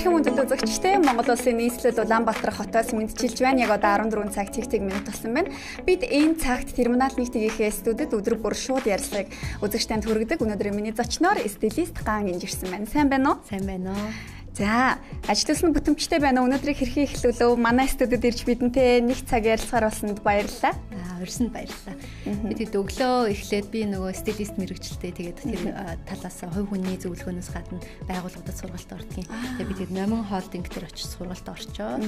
Эрхэм хүндэт үзэгчтэй Монгол Улсын нийслэл Улаанбаатар хотоос мэдчилж байна. Яг одоо 14 цаг цэг минут болсон байна. Бид энэ цагт терминал 1-ийнхээ студид өдөр бүр шууд ярилцлагыг үзэгчтэнд хүргэдэг. Өнөөдөр миний зочноор стилист Ган Гинжирсэн байна. Сайн байна уу? Сайн байна уу? За, ажилтнууд бүтэмжтэй байна уу? Өнөөдрийг хэрхэн эхлүүлв? Манай студид ирж бидэнтэй нэг цаг ярилцахаар болсонд баярлалаа. Урьсанд баярлалаа. Бид өглөө эхлээд би нөгөө стилист мэрэгчлээ. Тэгээд тэр талаас хувь хүний зөвлөгөөнөөс гадна байгууллагуудад сургалт ордгийн. Тэгээд бид номин холдинг дээр очиж сургалт орчоо.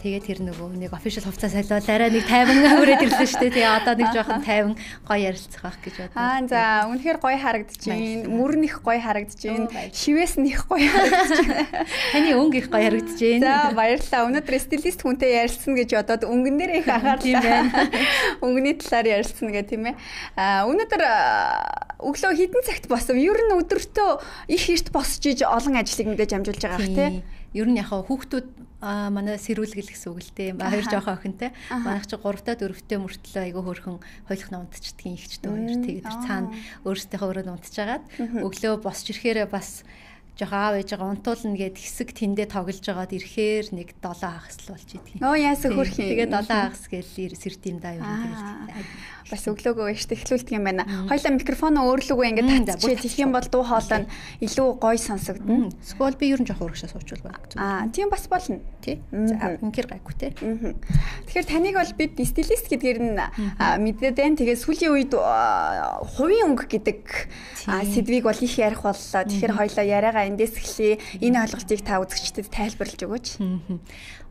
Тэгээд тэр нөгөө нэг official хувцас солиод арай нэг 50 хүрээд ирлээ шүү дээ. Тэгээд одоо нэг жоохон 50 гоё ярилцах байх гэж бодлоо. За, үнэхээр гоё харагдаж байна. Мөр нэх гоё харагдаж байна. Шивээс нэх гоё харагдаж байна. Таны өнгө их гоё харагдаж За, байна. баярлалаа. Өнөөдөр стилист хүнтэй ярилцсан гэж бодоод өнгөн дээр их анхаарлаа. Өнгөний талаар ярилцсан гэх тийм ээ. Өнөөдөр өглөө хэдэн цагт босов? Ер нь өдөртөө их эрт босч иж олон ажлыг мэдээж амжуулж байгаа ах тийм. Ер нь яг хүүхдүүд манай сэрүүлгэл гэсэн үг л дээ. Хоёр жоохон охинтой. Манайх чи 3-т 4-т мөртлөө айгүй хөөрхөн хойлохна унтчихдгийн ихчтэй хоёр. Тэгээд цаана өөрсдийнхөө өрөөнд унтчихагаад өглөө босч ирэхээр бас жоохон аав ээжээ унтуулна гэд хэсэг тэндээ тоглож байгаад ирэхээр нэг 7 хагас л болж идэх юм. Оо яасан хөрх юм. Тэгээд 7 хагас гээл сэрд юм да юу тэгээд бас өглөөгөө ишт эхлүүлдэг юм байна. Хоёлаа микрофоноо өөрлөгөө ингээд татчихээ тэгэх юм бол дуу хоолой нь илүү гоё сонсогдно. Эсвэл би ер нь жоохон урагшаа суучвал байна. Тийм бас болно. Тий. За инкер гайгүй те. Тэгэхээр таныг бол бид стилист гэдгээр нь мэдээд байна. Тэгээд сүүлийн үед хувийн өнгө гэдэг сэдвийг бол их ярих боллоо. Тэгэхээр хоёлаа яриагаа эндээс эхлэе. Энэ ойлголтыг та үзэгчдэд тайлбарлаж өгөөч.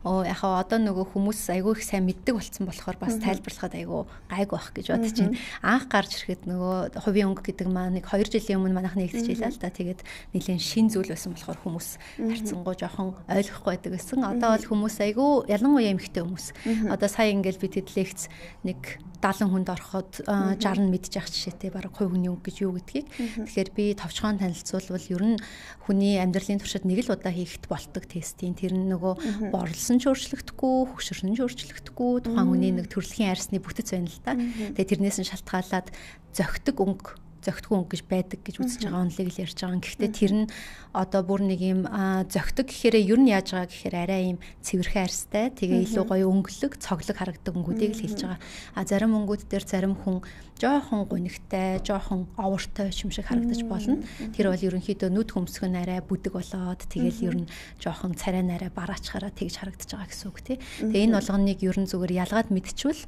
Яг одоо нөгөө хүмүүс айгүй их сайн мэддэг болсон болохоор бас тайлбарлахад айгүй гайгүй байх гэж бодож байна. Анх гарч ирэхэд нөгөө хувийн өнгө гэдэг маань нэг 2 жилийн өмнө манайх нэгдчихлээ л да. Тэгээд нэлээд шин зүйл байсан болохоор хүмүүс харьцангуй жоохон ойлгохгүй байдаг гэсэн. Одоо бол хүмүүс айгүй ялангуяа эмэгтэй хүмүүс. Одоо сая ингээл бид хэд лекц нэг 70 хүнд ороход 60 мэдчих жишээтэй бараг хувь хүний өнгө гэж юу гэдгийг. Тэгэхээр би товчхон танилцуулбал ер нь хүний амьдралын туршид нэг л удаа хийхэд болдог тестийн тэр нөгөө борлсон ч өөрчлөгдөхгүй, хөгшөрсөн ч өөрчлөгдөхгүй, тухайн хүний нэг төрөлхийн арьсны бүтэц байна л да. Тэгээ тэрнээс нь шалтгаалаад зөгтгөн өнгө гэж байдаг гэж үзэж байгаа онлыг л ярьж байгаа. Гэхдээ тэр нь одоо бүр нэг юм зөгтөг гэхээр ер нь яаж байгаа гэхээр арай юм цэвэрхэн арьстай, тэгээ илүү гоё өнгөлөг, цоглог харагддаг өнгүүдийг л хэлж байгаа. Зарим өнгүүд дээр зарим хүн жоохон гунигтай, жоохон овортой юм шиг харагдаж болно. Тэр бол ерөнхийдөө нүд хөмсг нь арай бүдэг болоод тэгэл ер нь жоохон царай нарай бараачхаараа тэгж харагдаж байгаа гэсэн үг тий. Тэгээ энэ болгоныг ер нь зүгээр ялгаад мэдчихвэл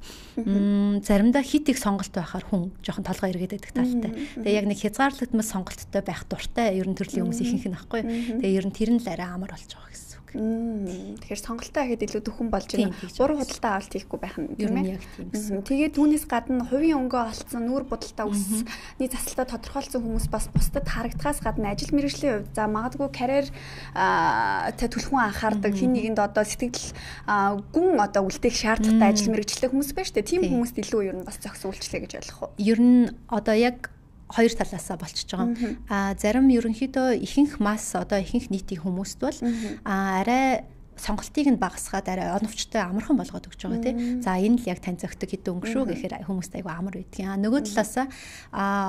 заримдаа хит их сонголт байхаар хүн жоохон толгой эргээд байдаг талтай. Тэгээ яг нэг хязгаарлагдмал сонголттой байх дуртай ер нь төрлийн хүмүүс ихэнх нь байхгүй. Тэгээ ер нь тэр нь л арай амар болж байгаа гэсэн үг. Тэгэхээр сонголтоо ихэд илүү дөхөн болж байна. Буруу худалдаа авалт хийхгүй байх нь тийм ээ. Яг тийм гэсэн. Тэгээд түүнээс гадна хувийн өнгөө олцсон нүүр будалтай үсний засалтаа тодорхойлсон хүмүүс бас бусдад харагдахаас гадна ажил мэргэжлийн хувьд за магадгүй карьер та түлхүүн анхаардаг хин нэгэнд одоо сэтгэл гүн одоо үлдээх шаардлагатай ажил мэргэжлэх хүмүүс байна шүү дээ. Тийм хүмүүст илүү ер нь бас зохис үйлчлээ гэж ойлгох уу? Ер нь одоо яг хоёр талаасаа болчихж байгаа. Зарим ерөнхийдөө ихэнх нийтийн хүмүүст бол арай сонголтыг нь багасгаад арай оновчтой амархан болгоод өгч байгаа тийм. За энэ л яг тань зөгтөг хэдэн өнгө шүү гэхээр хүмүүст айгу амар байдгийн. Нөгөө талаасаа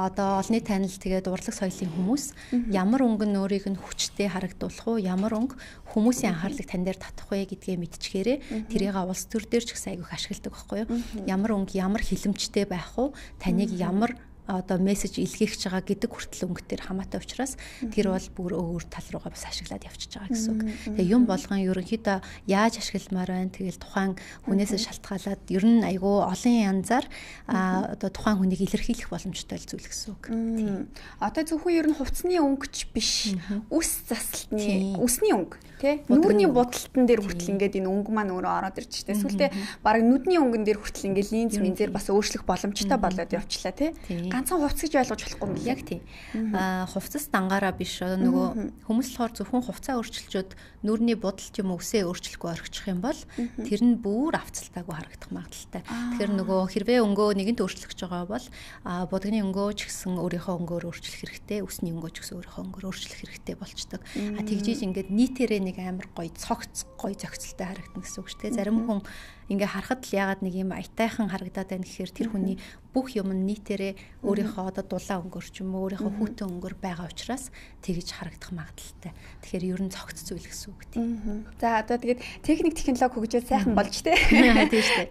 одоо олонний танил тэгээд урлаг соёлын хүмүүс ямар өнгө нь өөрийг нь хүчтэй харагдуулах уу, ямар өнгө хүмүүсийн анхаарлыг тань дээр татах вэ гэдгээ мэдчихээрээ тэрийг улс төр дээр ч гэсэн айгу ашигладаг байхгүй юу? Ямар өнгө ямар хилэмжтэй байх уу, таныг ямар одоо мессеж илгээх байгаа гэдэг хүртэл өнгөтөр хамаатай учраас тэр бол бүр өөр тал руугаа бас ашиглаад явчихж байгаа гэсэн үг. Тэгээ юм болгон ерөнхийдөө яаж ашигламаар байна. Тэгэл тухайн хүнээсээ шалтгаалаад ер нь айгүй олон янзаар одоо тухайн хүнийг илэрхийлэх боломжтой зүйл гэсэн үг. Одоо зөвхөн ер нь хувцсны өнгөч биш. Үс засалтны үсний өнгө тий. Нүрийн будалтан дээр хүртэл ингээд энэ өнгө маань өөрөө ороод ирж штэ. Эсвэл бараг нүдний өнгөн дээр хүртэл ингээд линз минзээр бас өөрчлөх боломжтой болоод явчлаа тий. Ганцхан хувцс гэж ойлгож болохгүй юм. Яг тийм. Хувцас дангаараа биш нөгөө хүмүүс болохоор зөвхөн хувцаа өөрчилчөөд нүрийн будалт юм өсөө өөрчлөхгүй орхичих юм бол тэр нь бүр авцалтаагүй харагдах магадaltaй. Тэгэхээр нөгөө хэрвээ өнгөө нэгэнт өөрчлөгч байгаа бол будагны өнгөө ч гэсэн өөрийнхөө өнгөөр өөрчлөх хэрэгтэй, үсний өнгөө ч гэсэн өөрийнхөө өнгөөр өөрчлөх хэрэгтэй болчдөг. Тэгжиж ингээд нийтээрээ нэг амар гоё цогц гоё зохицолтой харагдана гэсэн үг шүү дээ. Зарим хүн ингээ харахад л ягаад нэг юм аятайхан харагдаад байна гэхээр тэр хүний бүх юм нийтээрээ өөрийнхөө одоо дулаан өнгөр ч юм уу өөрийнхөө хүүтэн өнгөр байгаа учраас тэгж харагдах магадaltaй. Тэгэхээр ер нь цогц зүйл гэсэн үг тийм. За одоо тэгээд техник технологи хөгжөөд сайхан болж тий.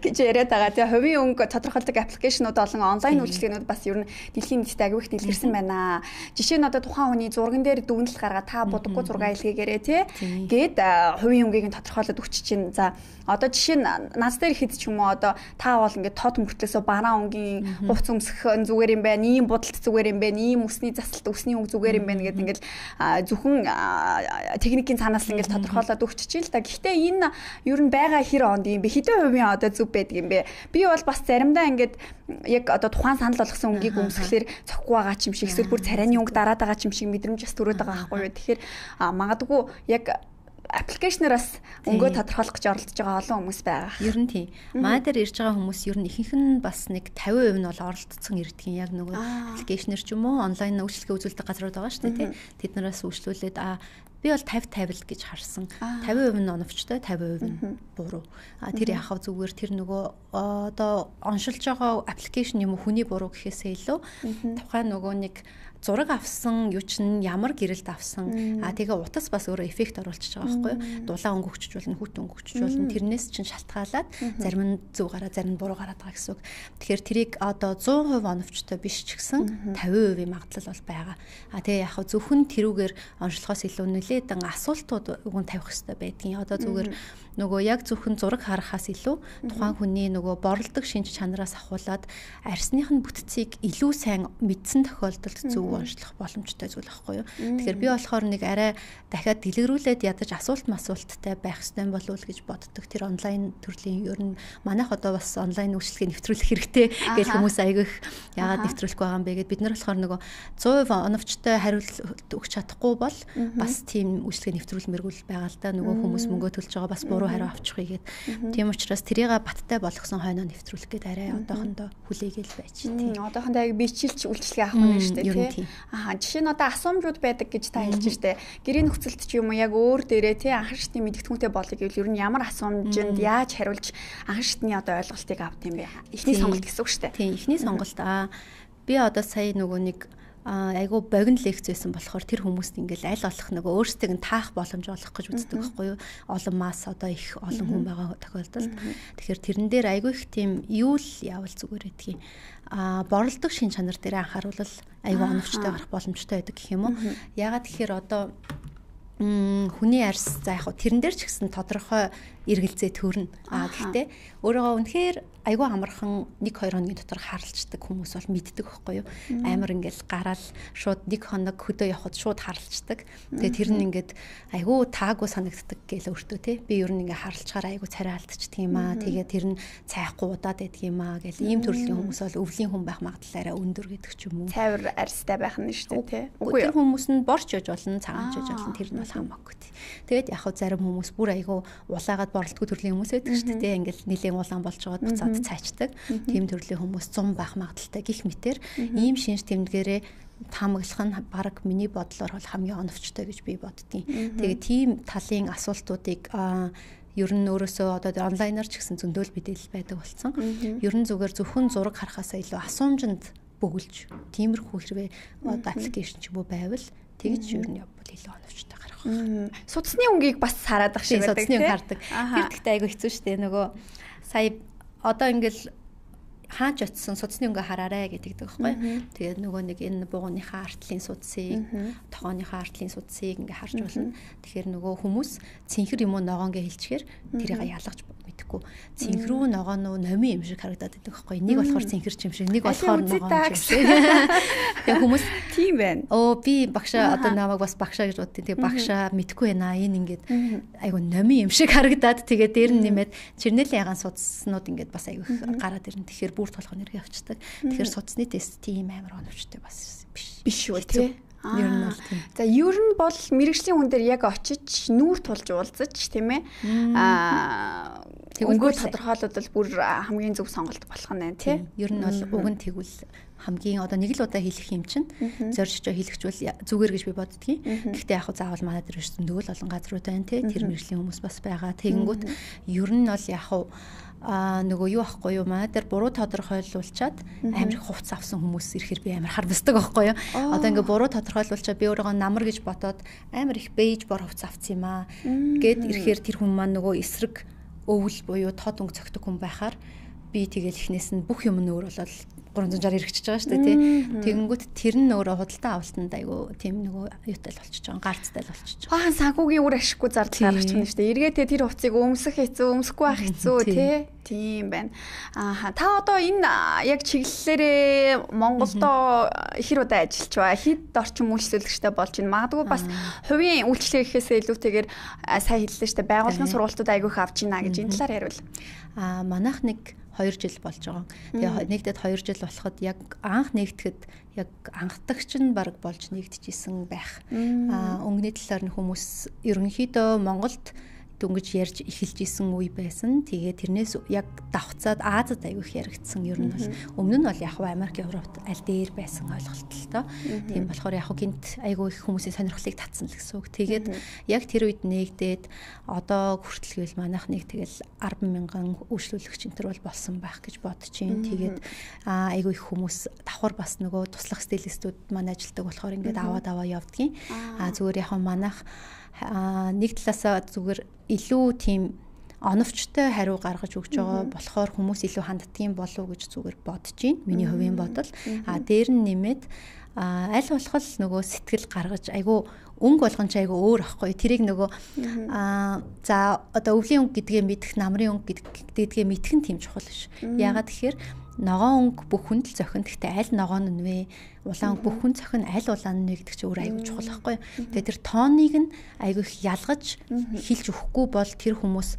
гэж яриад байгаа. Тэгээ хувийн өнгө тодорхойлдог аппликейшнууд болон онлайн үйлчилгээнүүд бас ер нь дэлхийн нийтэд аягүй их дэлгэрсэн байна. Жишээ нь одоо тухайн хүний зурган дээр дүгнэлт гаргаад та будаггүй зураг илгээгээрээ тий. Гээд хувийн өнгөийг нь тодорхойлоод өгч чинь. За одоо жишээ нь нас дээр хэд ч юм уу одоо та бол ингээд тод мөртлөөсөө бараа өнгийн хувц өмсөх зүгээр юм байна, ийм будалт зүгээр юм байна, ийм үсний засалт үсний өнгө зүгээр юм байна гэдэг ингээд зөвхөн техникийн цаанаас л ингээд тодорхойлоод өгч чил та. Гэхдээ энэ ер нь байгаа хэр онд юм бэ? Хэдэн хувийн одоо зүв байдаг юм бэ? Би бол бас заримдаа ингээд яг одоо тухайн санал болгосон өнгийг өмсгөхлээр цохгүй байгаа ч юм шиг эсвэл бүр царайны өнгө дараад байгаа ч юм шиг мэдрэмж бас төрөөд байгаа байхгүй юу? Тэгэхээр магадгүй яг аппликейшнераас өнгөө тодорхойлох гэж оролдож байгаа олон хүмүүс байгаа. Ер нь тийм. Маа дээр ирж байгаа хүмүүс ер нь ихэнх нь бас нэг 50% нь бол оролцсон ирдэг юм. Яг нөгөө аппликейшнер ч юм уу онлайн үйлчилгээ үзүүлдэг газрууд байгаа шүү дээ. Тэднээс үйлчлүүлээд би бол 50-50 гэж харсан. 50% нь оновчтой, 50% нь буруу. Тэр яхав зүгээр тэр нөгөө одоо оншилж байгаа аппликейшн юм уу хүний буруу гэхээсээ илүү тухайн нөгөө нэг зураг авсан юу чинь ямар гэрэлд авсан тэгээ утас бас өөрөө эффект оруулчихж байгаа байхгүй юу? Дулаан өнгө өгчөж болно, хүүтэн өнгө өгчөж болно. Тэрнээс чинь шалтгаалаад зарим нь зөв гараа, зарим нь буруу гараад байгаа гэсэн үг. Тэгэхээр тэрийг одоо 100% оновчтой биш ч гэсэн 50% магадлал бол байгаа. Тэгээ яг зөвхөн тэрүүгээр онцлохоос илүү нэлээдэн асуултууд уг нь тавих хэрэгтэй байдгийн. Одоо зүгээр нөгөө яг зөвхөн зураг харахаас илүү тухайн хүний нөгөө борлдог шинж чанараас ахуулаад арсных нь бүтцийг илүү сайн мэдсэн тохиолдолд зөв онцлох боломжтой зүйл байхгүй юу. Тэгэхээр би болохоор нэг арай дахиад дэлгэрүүлээд ядаж асуулттай байх ёстой болов уу гэж боддог. Тэр онлайн төрлийн ер нь манайх одоо бас онлайн үйлчилгээ нэвтрүүлэх хэрэгтэй гэж хүмүүс айгүйх яагаад нэвтрүүлэх байгаа юм бэ гэд бид нар болохоор нөгөө 100% оновчтой хариулт өгч чадахгүй бол бас тийм үйлчилгээ нэвтрүүлмэргүй байгаа л да. Нөгөө хүмүүс мөнгө төлж байгаа бас буруу хариу авчихъя гэд. Тийм учраас тэрийг баттай болгосон хойноо нэвтрүүлэх гээд арай одоохондоо хүлээгээл байж тийм. Одоохондоо яг бичилж үйлчилгээ авах нь шүү дээ тий. Жишээ нь одоо асуумжууд байдаг гэж та хэлж штэ. Гэрийн нөхцөлд ч юм уу яг өөр дээрээ тий анхан шатны мэдгэтгүүнтэй болъё гэвэл ер нь ямар асуумжинд яаж хариулж анхан шатны одоо ойлголтыг авд юм бэ? Эхний сонголт гэсэн үг штэ. Тийм эхний сонголт би одоо сая нөгөө нэг айгу богино лекц байсан болохоор тэр хүмүүст ингээл аль болох нөгөө өөрсдийг нь таах боломж олох гэж үздэг байхгүй юу? Олон масс одоо их олон хүн байгаа тохиолдолд. Тэгэхээр тэрэн дээр айгу их тийм юу л явал зүгээр гэдгийг борлдог шин чанар дээр анхааруул айгу оновчтой гарах боломжтой байдаг гэх юм уу? Ягаад тэгэхээр одоо хүний арьс за яг тэрэн дээр ч гэсэн тодорхой эргэлзээ төрнө. Гэхдээ өөрөөгөө үнэхээр айгүй амархан 1-2 хоногийн дотор харалцдаг хүмүүс бол мэддэг байхгүй юу? Амар ингээл гараал шууд 1 хоног хөдөө явхад шууд харалцдаг. Тэгээ тэр нь ингээд айгүй таагүй санагддаг гээл өөртөө тий. Би ер нь ингээ харалцахаар айгүй царай алдчихдаг юм аа. Тэгээ тэр нь цайхгүй удаад байдаг юм аа гэл ийм төрлийн хүмүүс бол өвлийн хүн байх магадлалаараа өндөр гэдэг ч юм уу. Цайвар арьстай байх нь шүү дээ тий. Үгүй тэр хүмүүс нь борч яж болно, цагаанч яж болно. Тэр нь бол хамаагүй тий. Тэгээд яг зарим хүмүүс бүр айгүй улаагаад борлтгүй төрлийн хүмүүс байдаг шүү дээ. Ингээл нэлээд улаан болж байгаад буцаад цаачдаг. Тийм төрлийн хүмүүс 100 байх магадaltaй гих мэтэр ийм шинж тэмдгээрээ таамаглах нь баг миний бодлоор бол хамгийн оновчтой гэж би боддгийн. Тэгээд тийм талын асуултуудыг ер нь өөрөөсөө одоо онлайнаар ч гэсэн зөндөөл мэдээлэл байдаг болсон. Ер нь зүгээр зөвхөн зураг харахаасаа илүү асуумжинд бөглж тиймэрхүү хэрвээ одоо аппликейшн ч юм уу байвал тэгж ер нь явбал илүү оновчтой гарах. Судасны өнгийг бас хараад ах шиг байдаг тийм. Судасны өнг хардаг. Тэр гэхдээ айгүй хэцүү шүү дээ. Нөгөө сая одоо ингээл хаач очсон судасны өнгө хараарэ гэдэг байхгүй. Тэгээд нөгөө нэг энэ бууганыхаа артлын судсыг, тохооныхаа артлын судсыг ингээ харж болно. Тэгэхээр нөгөө хүмүүс цэнхэр юм уу ногоонгээ хэлчихээр тэрийг ялгаж мэдэхгүй. Цэнхрүү ногооноо номын юм шиг харагдаад байдаг байхгүй. Нэг болохоор цэнхэрч юм шиг, нэг болохоор ногоон юм шиг. Тэгээд хүмүүс тийм байна. Би багшаа одоо намайг бас багшаа гэж боддیں۔ Тэгээд багшаа мэдэхгүй байна. Энэ ингээд айгу номын юм шиг харагдаад тэгээд дээр нь нэмээд чирнэлийн ягаан судснууд ингээд бас айгу гараад ирнэ. Тэгэхээр бүр толгой нэргээ авчдаг. Тэгэхээр судасны тест тийм амар оновчтой бас биш үү тий. Ер нь бол тийм. За ер нь бол мэрэгжлийн хүн дээр яг очиж нүүр тулж уулзаж тийм ээ. Өнгөө тодорхойлолт бүр хамгийн зөв сонголт болох нь байна тий. Ер нь бол уг нь тэгвэл хамгийн одоо нэг л удаа хэлэх юм чинь зоржиж хэлэхчвэл зүгээр гэж би боддгийн. Гэхдээ яг заавал манай дээр зөндөл олон газрууд байна тий. Тэр мэрэгжлийн хүмүүс бас байгаа. Тэгэнгүүт ер нь бол яг нөгөө юу ахгүй юу маа тэр буруу тодорхойлуулчаад амар их хувц авсан хүмүүс ирэхээр би амар хармсдаг байхгүй юу. Одоо ингээ буруу тодорхойлуулчаад би өөрийгөө намар гэж бодоод амар их бэж бор хувц авсан юм аа гэд ирэхээр тэр хүн маань нөгөө эсрэг өвөл буюу тод өнгө цогтөг хүн байхаар би тэгэл ихнээс нь бүх юм нь өөр болоод 360 хэрэгжиж байгаа шүү дээ тий. Тэгэнгүүт тэр нь өөрөө худалдан авалтанд айгу тийм нөгөө юутай л болчихж байгаа, гарцтай л болчихж байгаа. Баахан санхүүгийн үр ашиггүй зардал гаргаж байна шүү дээ. Эргээтэй тэр хувцыг өмсөх хэцүү, өмсөхгүй байх хэцүү тий. Тийм байна. Та одоо энэ яг чиглэлээрээ Монголдо ихэр удаа ажиллаж байгаа. Хэд орчим үйлчлүүлэгчтэй болж байна. Магадгүй бас хувийн үйлчлэг гэхээсээ илүүтэйгээр сайн хэллээ шүү дээ. Байгууллагын сургалтууд айгүйх авч байна гэж энэ талаар яриул. Манайх нэг 2 жил болж байгаа. Тэгээ нэгдэд 2 жил болоход яг анх нэгдэхэд яг анхдагч нь баг болж нэгдэжсэн байх. Өнгөний талаар нь хүмүүс ерөнхийдөө Монголд дөнгөж ярьж эхэлж исэн үе байсан. Тэгээ тэрнээс яг давхцаад Азад аягүй их яригдсан. Ер нь бол өмнө нь бол яг Америк, Европт аль дээр байсан ойлголт л тоо. Тийм болохоор яг гинт аягүй их хүмүүсийн сонирхлыг татсан л гэсэн үг. Тэгээд яг тэр үед нэгдээд одоо хүртэлгээл манайх нэг тэгэл 10,000 үйлчлүүлэгч энэ төр бол болсон байх гэж бодож байна. Тэгээд аягүй их хүмүүс давхар бас нөгөө туслах стилистүүд маань ажилдаг болохоор ингээд аваад явдгийн. Зүгээр яг манайх нэг талаасаа зүгээр илүү тийм оновчтой хариу гаргаж өгч байгаа болохоор хүмүүс илүү ханддгийн болов уу гэж зүгээр бодож байна. Миний хувийн бодол. Дээр нь нэмээд аль болох нөгөө сэтгэл гаргаж айгу өнгө болгон ч айгу өөр ахгүй. Тэрийг нөгөө за одоо өвлийн өнгө гэдгээ мэдэх, намрын өнгө гэдгээ мэдэх нь тийм чухал биш. Яагаад тэгэхээр ногоон өнгө бүх хүнд л зохин. Гэхдээ аль ногоон нь вэ? Улаан өнгө бүх хүн зохин, аль улаан нь вэ гэдэг чинь өөр айгу чухал байхгүй. Тэгээ тэр тооныг нь айгу их ялгаж хэлж өгөхгүй бол тэр хүмүүс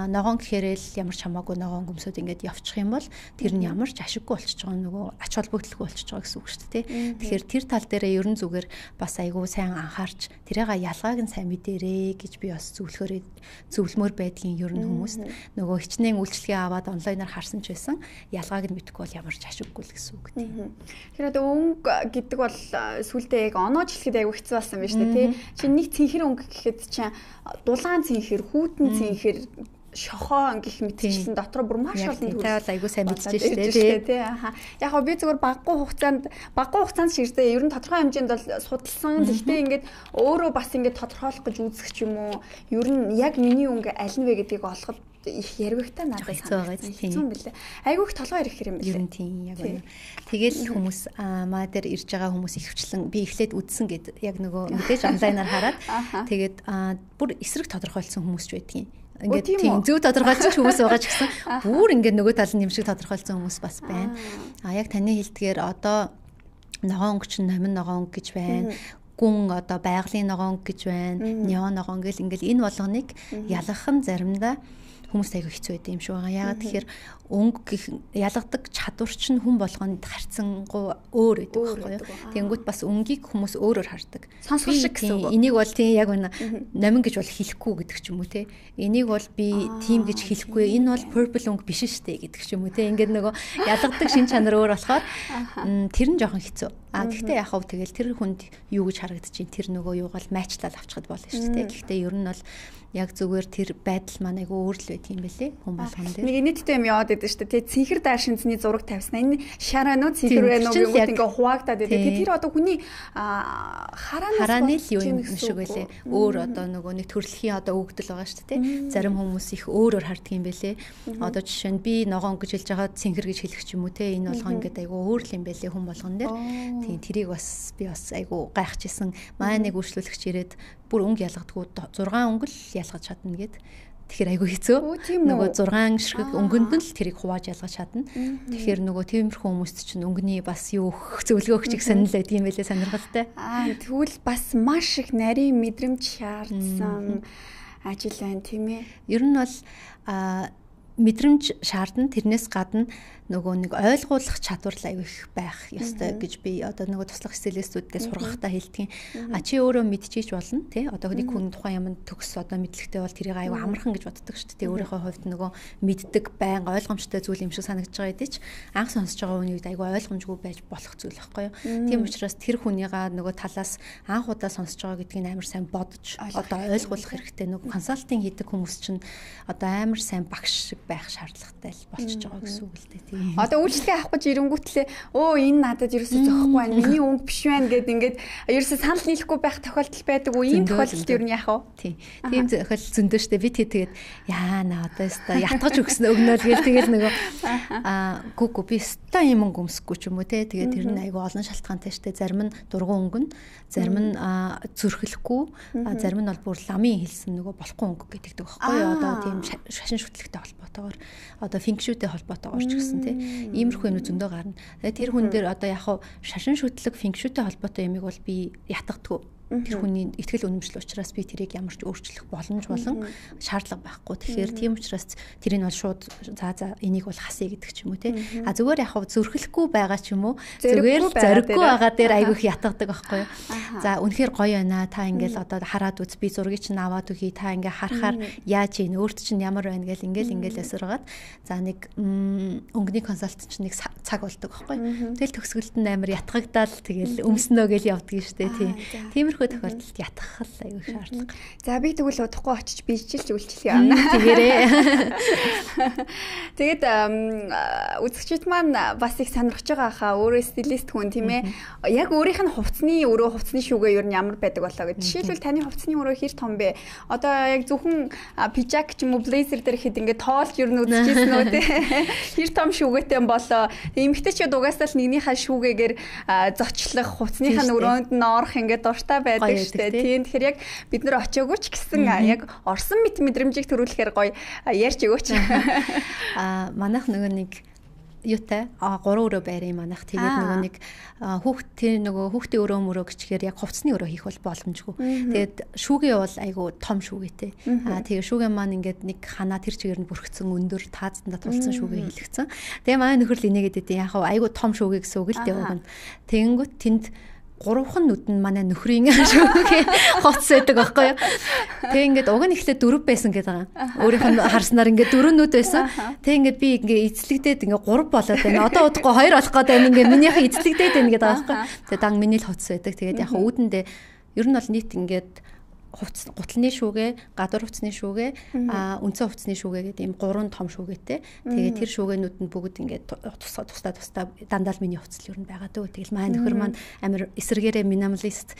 ногоон гэхээрээ л ямар ч хамаагүй ногоон гөмсөд ингээд явчих юм бол тэр нь ямар ч ашиггүй болчихж байгаа нөгөө ач холбогдолгүй болчихж байгаа гэсэн үг шүү дээ. Тэгэхээр тэр тал дээрээ ерөн зүгээр бас айгу сайн анхаарч тэрийг ялгааг нь сайн мэдэрээ гэж би бас зөвлөмөр байдгийн ерөн хүмүүс нөгөө хичнээн үйлчлэгээ аваад онлайнаар харсан ч байсан ялгааг нь мэдэхгүй бол ямар ч ашиггүй л гэсэн үг тийм. Тэгэхээр одоо өнгө гэдэг бол сүлдээ яг оноож хэлэхэд аягүй хэцүү болсон байна шүү дээ тий. Чи нэг цэнхэр өнгө гэхэд чинь дулаан цэнхэр, хүүтэн цэнхэр, шохоо гэх мэтчлэн дотор бүр маш олон төр айгүй сайн мэдчихэж шүү дээ тий. Яг би зүгээр баггүй хугацаанд ширдээ ер нь тодорхой хэмжээнд бол судалсан. Гэхдээ ингээд өөрөө бас ингээд тодорхойлох гэж үзэх ч юм уу ер нь яг миний өнгө аль нь вэ гэдгийг олоход их яригтай надад хэцүү байлаа. Айгүйх толгой ирэх юм байна. Ер нь тийм яг үнэ. Тэгэл хүмүүс маа дээр ирж байгаа хүмүүс ихвчлэн би эхлээд үдсэн гэд яг нөгөө мэдээж онлайнаар хараад тэгээд бүр эсрэг тодорхойлсон хүмүүс ч байдгийн. Ингээд тийм зөв тодорхойлсон хүмүүс байгаа ч гэсэн бүр ингээд нөгөө тал нь юм шиг тодорхойлсон хүмүүс бас байна. Яг таны хэлдгээр одоо ногоон өнгө чинь номин ногоон өнгө гэж байна. Гүн одоо байгалийн ногоон өнгө гэж байна. Неон ногоон гэл ингээд энэ болгоныг ялгах нь заримдаа хүмүүс айгүй хэцүү байд юм шиг байгаа. Яагаад тэгэхээр өнгө ялгадаг чадвар чинь хүн болгонд харьцангуй өөр байдаг байхгүй юу. Тэнгүүт бас өнгийг хүмүүс өөрөөр хардаг. Сонсгол шиг гэсэн үг. Энийг бол тийм яг үнэ номин гэж бол хэлэхгүй гэдэг ч юм уу те. Энийг бол би тийм гэж хэлэхгүй. Энэ бол purple өнгө биш штэ гэдэг ч юм уу те. Ингээд нөгөө ялгадаг шин чанар өөр болохоор тэр нь жоохон хэцүү. Гэхдээ яг хав тэгэл тэр хүнд юу гэж харагдчих, тэр нөгөө юуг бол майчлал авчихад болно шүү дээ. Гэхдээ ер нь бол яг зүгээр тэр байдал маань айгүй өөр л байт юм бэлээ хүн болгон дээр. Нэг инээдтэй юм яваад байдаг шүү дээ. Цэнхэр дайр шинцний зураг тавьсан. Энэ шараа нөө цэнхэр байна уу гэнэ ингээ хуваагдаад байдаг. Тэр одоо хүний харааны л юу юм шиг байлээ. Өөр одоо нөгөө нэг төрөлхийн одоо өгдөл байгаа шүү дээ. Зарим хүмүүс их өөрөөр харддаг юм бэлээ. Одоо жишээ нь би ногоон гэж хэлж байгаа цэнхэр гэж хэлэх ч юм уу те. Энэ болгон ингээ айгүй өөр л юм бэлээ хүн болгон дээр. Тийм тэрийг бас би бас айгүй гайхажсэн. Маа нэг үйлчлүүлэгч ирээд бүр өнгө ялгадгүй 6 өнгө л ялгаж чадна гэд. Тэгэхээр айгүй хэцүү. Нөгөө 6 ширхэг өнгөнд нь л тэрийг хувааж ялгаж чадна. Тэгэхээр нөгөө тиймэрхүү хүмүүст чинь өнгөний бас юу зөвлөгөө өгч санал байд юм байлээ сонирхолтой. Тэгвэл бас маш их нарийн мэдрэмж шаардсан ажил байна тийм ээ. Ер нь бол мэдрэмж шаардна. Тэрнээс гадна нөгөө нэг ойлгуулах чадвар л аяг их байх ёстой гэж би одоо нөгөө туслах стилистүүддээ сургахтаа хэлдэг. Чи өөрөө мэдчихэж болно тий. Одоо нэг хүн тухайн юмд төгс одоо мэдлэгтэй бол тэрийг аяг амархан гэж боддог шүү дээ. Өөрийнхөө хувьд нөгөө мэддэг байн ойлгомжтой зүйл юм шиг санагдаж байгаа хэдий ч анх сонсож байгаа хүний үед аяг ойлгомжгүй байж болох зүйл байхгүй юу. Тийм учраас тэр хүнийгаа нөгөө талаас анх удаа сонсож байгаа гэдгийг амар сайн бодож одоо ойлгуулах хэрэгтэй. Нөгөө консалтинг хийдэг хүмүүс чинь одоо амар сайн багш шиг байх шаардлагатай л болчихж байгаа гэсэн үг л дээ тийм. Одоо үйлчлэгээ авах гэж ирэнгүүтлээ энэ надад ерөөсөө зөхгүй байна. Миний өнгө биш байна гэд ингээд ерөөсөө санал нийлэхгүй байх тохиолдол байдаг уу? Ийм тохиолдолд ер нь яах вэ? Тийм тохиолдол зөндөө штэ би тэгээд яана одоо өстой ятгаж өгнөл гээл тэгэл нөгөө гүг би өстой юм өнгө өмсөхгүй ч юм уу те. Тэгээд тэр нь айгүй олон шалтгаантай штэ. Зарим нь дургуун өнгө, зарим нь зүрхлэхгүй, зарим нь бол бүр ламын хэлсэн нөгөө болохгүй өнгө гэдэг байхгүй юу? Одоо тийм шашин шүтлэгтэй холбоотойгоор одоо фэнкшүүтэй холбоотойгоор ч гэсэн те. Иймэрхүү юм зөндөө гарна. Тэгээд тэр хүн дээр одоо яг шашин шүтлэг фэнкшүүтэй холбоотой юмыг бол би ятгадаггүй. Тэр хүний ихтгэл үнэмшил учраас би тэрийг ямар ч өөрчлөх боломж болон шаардлага байхгүй. Тэгэхээр тийм учраас тэрийг бол шууд за энийг бол хасъя гэдэг ч юм уу те. Зүгээр яг зөрхлөхгүй байгаа ч юм уу. Зүгээр зориггүй байгаа дээр айгүйх ятгадаг байхгүй юу. За үнэхээр гоё байна. Та ингээл одоо хараад үз би зургийг чинь аваад өгье. Та ингээ харахаар яаж ийн өөрт чинь ямар байна гэл ингээл ясаргаад за нэг өнгөний консалтант чинь нэг цаг болдог байхгүй. Тэгэл төгсгөлд нь амар ятгагдаал тэгэл өмснөө гэл явдаг шүү дээ тийм. Тохиолдолд ятгах л аюу шаардлага. За би тэгвэл удахгүй очиж бижилж үйлчлэх юм. Тэгээрээ. Тэгээд үзэгчид маань бас их сонирхож байгаа хаа өөрөө стилист хүн тийм ээ. Яг өөрийнх нь хувцсны шүүгээ ер нь ямар байдаг болоо гэж. Жишээлбэл таны хувцсны өрөө хэр том бэ? Одоо яг зөвхөн пижак ч юм уу блейзер дээр ихэд ингээд тоолж ер нь үзчихсэн үү те. Хэр том шүүгээтэй болоо. Эмэгтэйчүүд угаасаа л нэгнийхээ шүүгээгээр зочлох, хувцсныхаа өрөөнд нь орох ингээд дуртай байдаг шүү дээ. Тийм тэгэхээр яг бид нэр очиагүй ч гэсэн яг орсон мэдрэмжийг төрүүлэхээр гоё ярьж өгөөч. Манайх нөгөө нэг юутай 3 өрөө байрын манайх тэгээд нөгөө нэг хүүхдийн өрөө мөрөө гिचгээр яг хувцсны өрөө хийх бол боломжгүй. Тэгээд шүүгээ бол айгу том шүүгээтэй. Тэгээд шүүгээ маань ингээд нэг ханаа тэр чигээр нь бүрхсэн өндөр таацтанда тулцсан шүүгээ хийлгцэн. Тэгээд манай нөхөр л инээгээд идэв яг айгу том шүүгээ гэсэн үг л дээ уг нь. Тэгэнгүүт тэнд 3хан нүд нь манай нөхрийн шүүгээ хоц байдаг байхгүй юу. Тэг ингээд уг нь ихлэ 4 байсан гэдэг байгаа. Өөрийнх нь харснаар ингээд 4 нүд байсан. Тэг ингээд би ингээд эзлэгдээд ингээд 3 болоод байна. Одоо удахгүй 2 болох гээд байна. Ингээд минийхээ эзлэгдээд байна гэдэг байгаа байхгүй. Тэг дан миний л хоц байдаг. Тэгээд яг үүдэндээ ер нь бол нийт ингээд гутлын шүүгээ, гадуур хувцсны шүүгээ, үндсэн хувцсны шүүгээ гэдэг ийм 3 том шүүгээтэй. Тэгээд тэр шүүгээнүүд нь бүгд ингээд тусдаа дандаа л миний хувцс л ер нь байгаа дөө. Тэгэл маань нөхөр маань амар эсэргээрээ минималист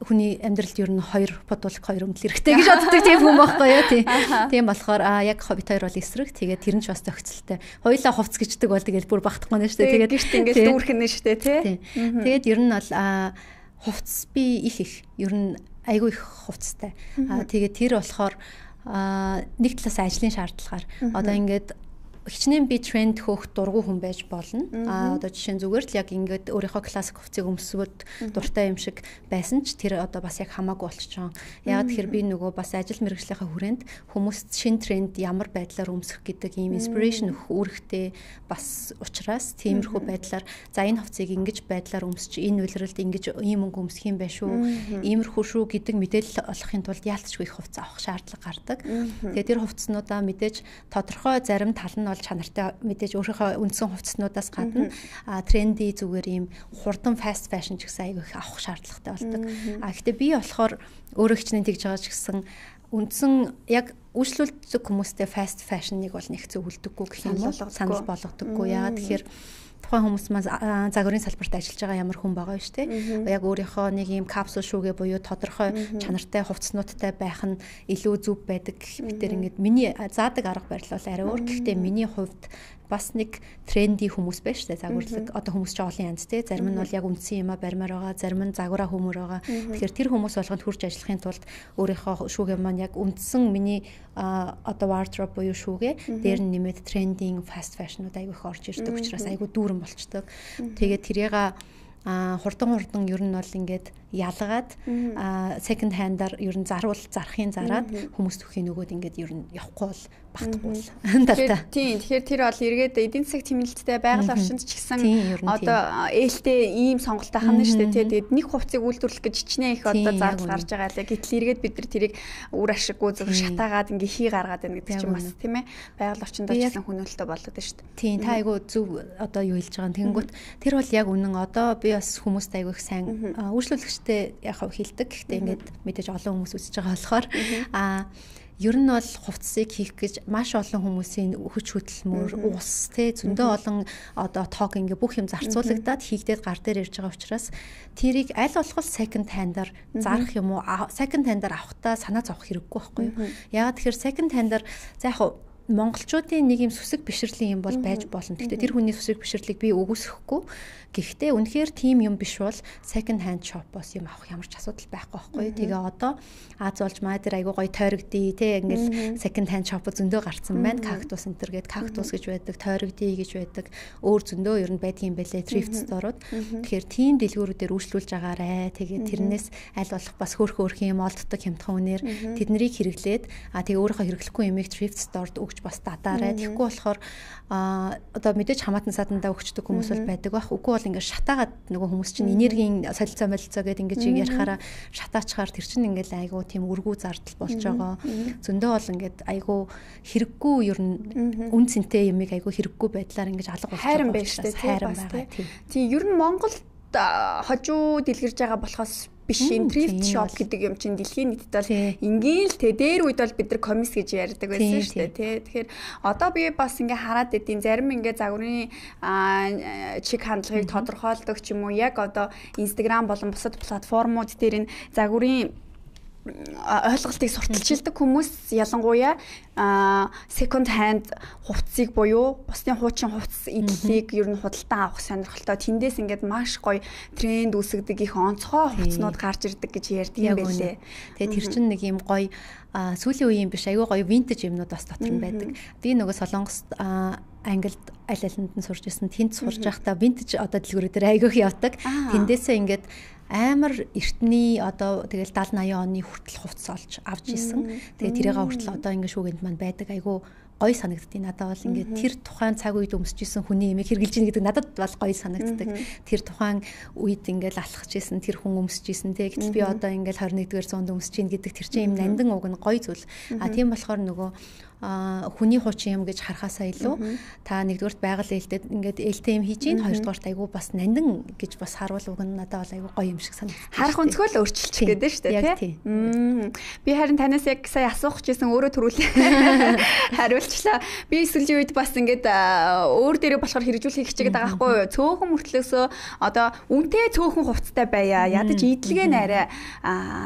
хүний амьдралд ер нь 2 бодвол 2 өмдөл хэрэгтэй гэж боддог тийм хүн байхгүй юу тий. Тийм болохоор яг хоббит хоёр бол эсрэг. Тэгээд тэр нь ч бас зохицолтой. Хоёулаа хувцс гэждэг бол тэгэл бүр багтахгүй нэ штэ. Тэгээд гэрт ингээд дүүрхэн нэ штэ тий. Тэгээд ер нь бол хувцс би их ер нь айгүй их хувцастай. Тэгээд тэр болохоор нэг талаас ажлын шаардлагаар одоо ингээд хичнээн би тренд хөөх дургу хүн байж болно. Одоо жишээ нь зүгээр л яг ингээд өөрийнхөө классик хувцсыг өмсвөд дуртай юм шиг байсан ч тэр одоо бас яг хамаагүй болчихсон. Яг тэгэхээр би нөгөө бас ажил мэргэжлийнхаа хүрээнд хүмүүст шин тренд ямар байдлаар өмсөх гэдэг ийм инспирэшн өгөх үүрэгтэй бас учраас тиймэрхүү байдлаар за энэ хувцсыг ингэж байдлаар өмсч энэ үйлрэлд ингэж ийм өнгө өмсөх юм байх шүү. Иймэрхүү шүү гэдэг мэдээлэл олохын тулд яалтчгүй их хувцас авах шаардлага гардаг. Тэгээд тэр хувцснуудаа мэдээж тодорхой зарим тал нь чанартай мэдээж өөрийнхөө үндсэн хувцснуудаас гадна тренди зүгээр ийм хурдан фаст фэшн ч гэсэн аягүй их авах шаардлагатай болдог. Гэхдээ би болохоор өөрөө хичнээн тэгж байгаа ч гэсэн үндсэн яг үйлчлүүлдэг хүмүүстэй фаст фэшныг бол нэг зөвлөдөггүй гэх юм уу санал болгодоггүй. Яагаад тэгэхээр тухайн хүмүүс маань загварын салбарт ажиллаж байгаа ямар хүн байгаа юм шүү дээ. Яг өөрийнхөө нэг юм капсул шүүгээ буюу тодорхой чанартай хувцснуудтай байх нь илүү зөв байдаг. Битэр ингээд миний заадаг арга барил бол арай өөр. Гэхдээ миний хувьд бас нэг тренди хүмүүс байна шүү дээ. Загварлаг одоо хүмүүс ч олон янз тий. Зарим нь бол яг үндсэн юмаа барьмаар байгаа, зарим нь загвараа хөмөр байгаа. Тэгэхээр тэр хүмүүс болгонд хурж ажиллахын тулд өөрийнхөө шүүгээ маань яг үндсэн миний одоо wardrobe буюу шүүгээ дээр нь нэмээд трендинг, fast fashion-ууд айгүй их орж ирдэг учраас айгүй дүүрэн болчдөг. Тэгээд тэрийг хурдан ер нь бол ингээд ялгаад second hand-аар ер нь зарахын зараад хүмүүст өгөх нөгөөд ингээд ер нь явахгүй бол багтахгүй л талтай. Тийм. Тэгэхээр тэр бол эргээд эдийн засаг тэмнэлттэй байгаль орчинд ч гэсэн одоо ээлтэй ийм сонголттой хана шүү дээ. Тэгээд нэг хувцсыг үйлдвэрлэх гэж хичнээн их одоо зардал гарч байгаа лээ. Гэтэл эргээд бид нар тэрийг үр ашиггүй зөв шатаагаад ингээ хий гаргаад байна гэдэг чинь бас тийм ээ. Байгаль орчинд ч гэсэн хөнөөлтөй болоод шүү дээ. Тийм. Та айгу зөв одоо юу хэлж байгаа юм. Тэнгүүт тэр бол яг үнэн одоо би бас хүмүүст айгу их сайн үйлчлүүлэгчтэй яг хилдэг. Гэхдээ ингээд мэдээж олон хүмүүс үзэж байгаа болохоор ер нь бол хувцсыг хийх гэж маш олон хүмүүсийн хүч хөдөлмөр, ус зөндөө олон одоо тог ингээ бүх юм зарцуулагдаад хийгдээд гар дээр ирж байгаа учраас тэрийг аль болох second hand-аар зарах юм уу? Second hand-аар авахтаа санаа зовох хэрэггүй байхгүй юу? Яагаад тэгэхээр second hand-аар за яг монголчуудын нэг юм сүсэг бишрлийн юм бол байж болно. Гэхдээ тэр хүний сүсэг бишрлийг би үгүйсэхгүй. Гэхдээ үнэхээр тийм юм биш бол second hand shop-оос юм авах ямар ч асуудал байхгүй байхгүй. Тэгээ одоо Аз болж маа дээр айгуу гоё тойрогдъё те ингээл second hand shop зөндөө гарцсан байна. Cactus Center гээд Cactus гэж байдаг, тойрогдъё гэж байдаг. Өөр зөндөө ер нь байдгийн байлээ thrift store-ууд. Тэгэхээр тийм дэлгүүрүүдээр үйлчлүүлж агаарэ. Тэгээ тэрнээс аль болох бас хөөрхөн юм олддог хямдхан үнээр тэднийг хэрэглээд тэгээ өөрийнхөө хэрэглэхгүй юмыг thrift store-д өгч бас дадаарэ. Тэгэхгүй болохоор одоо мэдээж хамаатан садандаа өгчдөг хүмүүс бол байдаг байх. Үгүй бол ингээд шатаагаад нөгөө хүмүүс чинь энергийн солилцоо молилцоо гэдэг ингээд ярихаараа шатаачаар тэр чинь ингээд айгуу тийм үргүү зардал болж байгаа. Зөндөө бол ингээд айгуу хэрэггүй ер нь үн цэнтэй юмыг айгуу хэрэггүй байдлаар ингээд алга болж байгаа. Хайран байна шүү дээ. Хайран байгаа. Тийм ер нь Монголд хожуу дэлгэрж байгаа болохоос биш энэ thrift shop гэдэг юм чинь дэлхийн нийтэд бол ингээл л дээр үед бол бид нар коммис гэж ярьдаг байсан шүү дээ тий. Тэгэхээр одоо би бас ингээ хараад идэв зарим ингээ загварын чиг хандлагыг тодорхойлдог ч юм уу яг одоо Instagram болон бусад платформуд дээр энэ загварын ойлголтыг сурталчилдаг хүмүүс ялангуяа second hand хувцсыг буюу бусдын хуучин хувцс эдлийг ер нь худалдан авах сонирхолтой тэндээс ингээд маш гоё тренд үүсгдэг их онцгой хувцснууд гарч ирдэг гэж ярьдаг юм байлээ. Тэгээ тэр чинь нэг юм гоё сүүлийн үеийн биш аюу гоё vintage юмнууд бас дотор нь байдаг. Би нөгөө Солонгост Англид аль алинд нь сурж исэн тэнд сурж байхдаа vintage одоо дэлгүүрээр айгүйх явдаг. Тэндээсээ ингээд амар эртний одоо тэгэл 70 80 оны хүртэл хувцас олж авч исэн. Тэгээ тэрийг хүртэл одоо ингэ шүүгэнд маань байдаг. Айгу гоё санагддیں۔ Надад бол ингээд тэр тухайн цаг үед өмсөжсэн хүний имийг хэрглэж ийн гэдэг надад бол гоё санагддаг. Тэр тухайн үед ингээд алхаж исэн тэр хүн өмсөжсэн те. Гэтэл би одоо ингээд 21-р зуунд өмсөж ийн гэдэг тэр чинь юм нандин уг нь гоё зүйл. Тийм болохоор нөгөө хүний хуучин юм гэж харахаасаа илүү та нэгдүгээрт байгаль ээлтэд ингээд ээлтэй юм хийж ийн хоёрдугаарт айгу бас нандин гэж бас харуул уг нь надад бол айгу гоё юм шиг санагдав. Харах өнцгөө л өөрчилчих гээд шүү дээ тий. Би харин танаас яг сая асуух гэжсэн өөрөө төрүүлээ хариулчлаа. Би сүүлийн үед бас ингээд өөр дээрээ болохоор хэрэгжүүлэхийг хичээгээд байгаа байхгүй юу? Цөөхөн мөртлөөсөө одоо үнтэй цөөхөн хувцастай байя. Ядаж идэлгээ нээрээ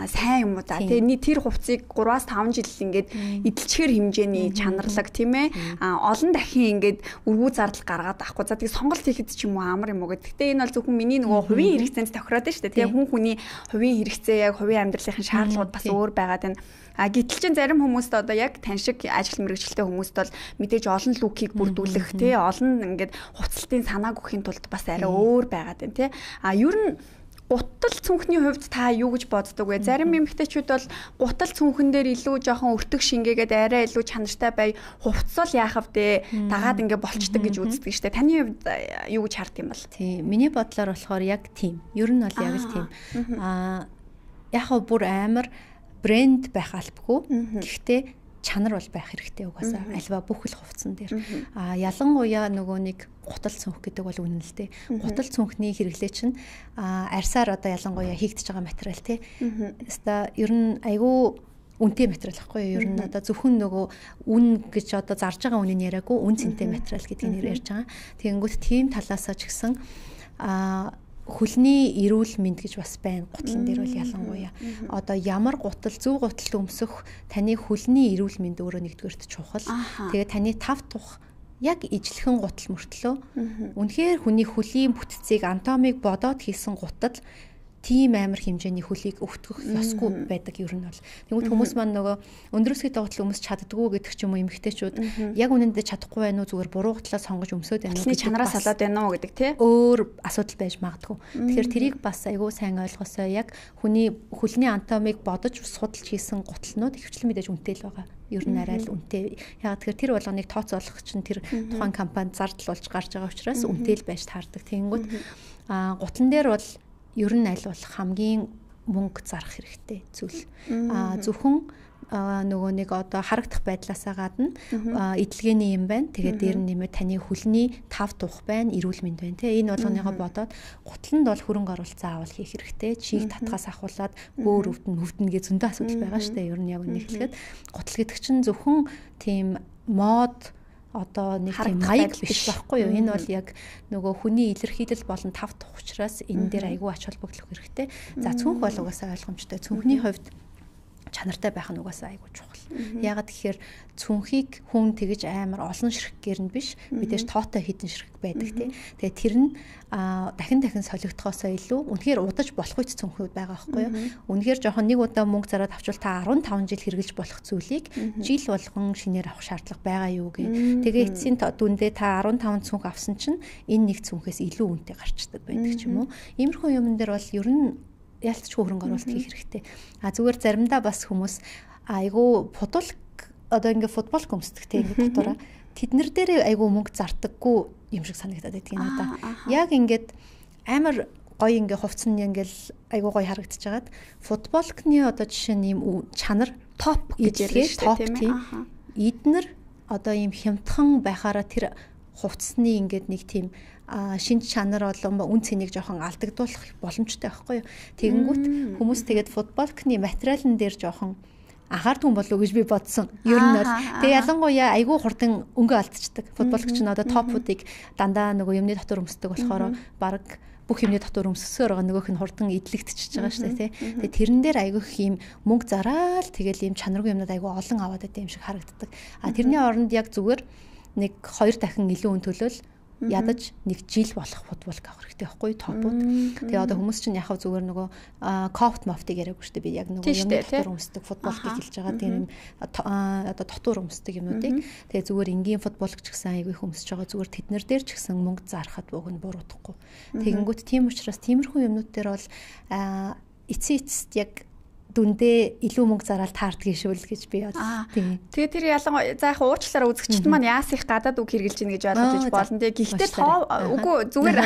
сайн юм уу за. Тэгээ тэр хувцсыг 3-5 жил ингээд идэлчээр хэмжээний чанарлаг тийм ээ олон дахин ингээд өргүү зардал гаргаад авахгүй за тэгээ сонголт хийхэд ч юм уу амар юм уу гэдэг. Гэтэ энэ бол зөвхөн миний нөгөө хувийн хэрэгцээнд тохироод байна шүү дээ. Тэгээ хүн хүний хувийн хэрэгцээ яг хувийн амьдралын шаардлагууд бас өөр байгаад байна. Гэтэл чин зарим хүмүүст одоо яг тань шиг ажил мэргэжилтэй хүмүүст бол мэдээж олон лүкийг бүрдүүлэх тий олон ингээд хувцалтын санааг өгөхийн тулд бас арай өөр байгаад байна тий. Ер нь гутал цүнхний хувьд та юу гэж боддог вэ? Зарим эмэгтэйчүүд бол гутал цүнхэн дээр илүү жоохон өртөг шингээгээд арай илүү чанартай бай хувцсал яахав дээ дагаад ингээ болчдөг гэж үздэг штэ. Таны хувьд юу гэж харддаг юм бол? Тийм. Миний бодлоор болохоор яг тийм. Ер нь бол яг л тийм. Яг бүр амар брэнд байх албагүй. Гэхдээ чанар бол байх хэрэгтэй угаасаа альва бүх л хувцсан дээр. Ялангуяа нөгөө нэг гутал цүнх гэдэг бол үнэн л дээ. Гутал цүнхний хэрэглээ чинь арьсаар одоо ялангуяа хийгдэж байгаа материал тий. Хэвээ ер нь айгүй үнэтэй материал байхгүй юу? Ер нь одоо зөвхөн нөгөө үн гэж одоо зарж байгаа үнийн яриаггүй үн цэнтэй материал гэдгийг нэр ярьж байгаа. Тэгэнгүүт тийм талаасаа ч гэсэн хөлний эрүүл мэнд гэж бас байна. Гутлан дээр бол ялангуяа одоо ямар гутал зөв гутал өмсөх таны хөлний эрүүл мэнд өөрөө нэгдүгээрт чухал. Тэгээ таны тав тух яг ижлэхэн гутал мөртлөө үнэхээр хүний хөлийн бүтцийг анатомиг бодоод хийсэн гутал тийм амар хэмжээний хөлийг өвтгөх ёсгүй байдаг ер нь бол. Тэгвэл хүмүүс маань нөгөө өндрөөсгий гутал өмсч чаддгүй гэдэг ч юм уу эмэгтэйчүүд яг үнэндээ чадахгүй байна уу зүгээр буруу гутлаа сонгож өмсөд байна уу гэж чанараас салаад байна уу гэдэг тий. Өөр асуудал байж магадгүй. Тэгэхээр тэрийг бас айгүй сайн ойлгосоо яг хүний хөлний анатомиг бодож судалж хийсэн гуталнууд ихвчлэн мэдээж үнэтэй л байгаа. Ер нь арай л үнэтэй. Яг тэгэхээр тэр болгоныг тооцоолох чинь тэр тухайн компанид зардал болж гарч байгаа учраас үнэтэй л байж таардаг. Тэгэнгүүт гутлан дээр бол ер нь аль болох хамгийн мөнгө зарах хэрэгтэй зүйл. Зөвхөн нөгөө нэг одоо харагдах байдлаасаа гадна эдлэгээний юм байна. Тэгээд дээр нь нэмээд таны хөлний тав тух байна, эрүүл мэнд байна. Тэ энэ болгоныгоо бодоод гутланд бол хөрөнгө оруулалт заавал хийх хэрэгтэй. Чийг татгаас ахуулаад бөөр өвдөн гэж зөндөө асуудал байгаа шүү дээ. Ер нь яг үнэ хэлэхэд гутал гэдэг чинь зөвхөн тийм мод одоо нэг тийм маяг биш байхгүй юу? Энэ бол яг нөгөө хүний илэрхийлэл болон тав тух учраас энэ дээр айгүй ач холбогдол хэрэгтэй. За цүнх бол угаасаа ойлгомжтой. Цүнхний хувьд чанартай байх нь угаасаа айгүй чухал. Яагаад гэхээр цүнхийг хүн тэгж амар олон ширхгээр нь биш, мэдээж тоотой хідэн ширхэг байдаг тийм. Тэгээ тэр нь дахин солигдохоосоо илүү үнэхээр удаж болох үе цүнхүүд байгаа байхгүй юу? Үнэхээр жоохон нэг удаа мөнгө зараад авчвал та 15 жил хэрглэж болох зүйлийг жил болгон шинээр авах шаардлага байгаа юу гэх. Тэгээ эцсийн дүндээ та 15 цүнх авсан чинь энэ нэг цүнхээс илүү үнэтэй гарчдаг байдаг ч юм уу. Иймэрхүү юмн дээр бол ер нь ялцч хөрөнгө оруулалт хийх хэрэгтэй. Зүгээр заримдаа бас хүмүүс айгу одоо ингээ футбол гүмсдэг тийм ингээ дотоороо тэднэр дээр айгу мөнгө зардаггүй юм шиг санагдаад байдаг юм надаа. Яг ингээд амар гоё ингээ хувцсан ингээл айгу гоё харагдчихагаад футболкны одоо жишээ нь юм чанар топ гэж ярьж байгаа тийм ээ. Эднэр одоо юм хямдхан байхаараа тэр хувцсны ингээд нэг тийм шинж чанар болон үн цэнийг жоохон алдагдуулах боломжтой байхгүй юу. Тэгэнгүүт хүмүүс тэгээд футболкны материалн дээр жоохон анхаардгүй болов уу гэж би бодсон. Ер нь бол тэгээ ялангуяа айгүй хурдан өнгө алдчихдаг. Футболч нь одоо топуудыг дандаа нөгөө юмны дотор өмсдөг болохоор баг бүх юмны дотор өмсөсөөр байгаа нөгөөх нь хурдан идлэгдчихэж байгаа шүү дээ тий. Тэгээ тэрэн дээр айгүй их юм мөнгө зараал тэгэл юм чанаргүй юмнууд айгүй олон аваад байдаг юм шиг харагддаг. Тэрний оронд яг зүгээр нэг 2 дахин илүү өн төлөөл ядаж нэг жил болох футболк авах хэрэгтэй байхгүй топууд. Тэгээ одоо хүмүүс чинь яхав зүгээр нөгөө кофт мофтыг яриаггүй шүү дээ. Би яг нөгөө юмны дотор өмсдөг футболкийг хэлж байгаа. Тийм одоо дотор өмсдөг юмнуудыг. Тэгээ зүгээр энгийн футболк ч гэсэн айгүй хүмүүсж байгаа. Зүгээр тэднэр дээр ч гэсэн мөнгө зарахад уг нь буруудахгүй. Тэгэнгүүт тийм учраас тиймэрхүү юмнууд дээр бол эцэст яг дүндээ илүү мөнгө зараад таардгийг шүүл гэж би бодсон. Тэгээ тэр ялангуяа за яг уучлаараа үзэгчд маань яас их гадаад үг хэрэгжилж ийн гэж ойлгож болно. Тэгээ гэхдээ үгүй зүгээр.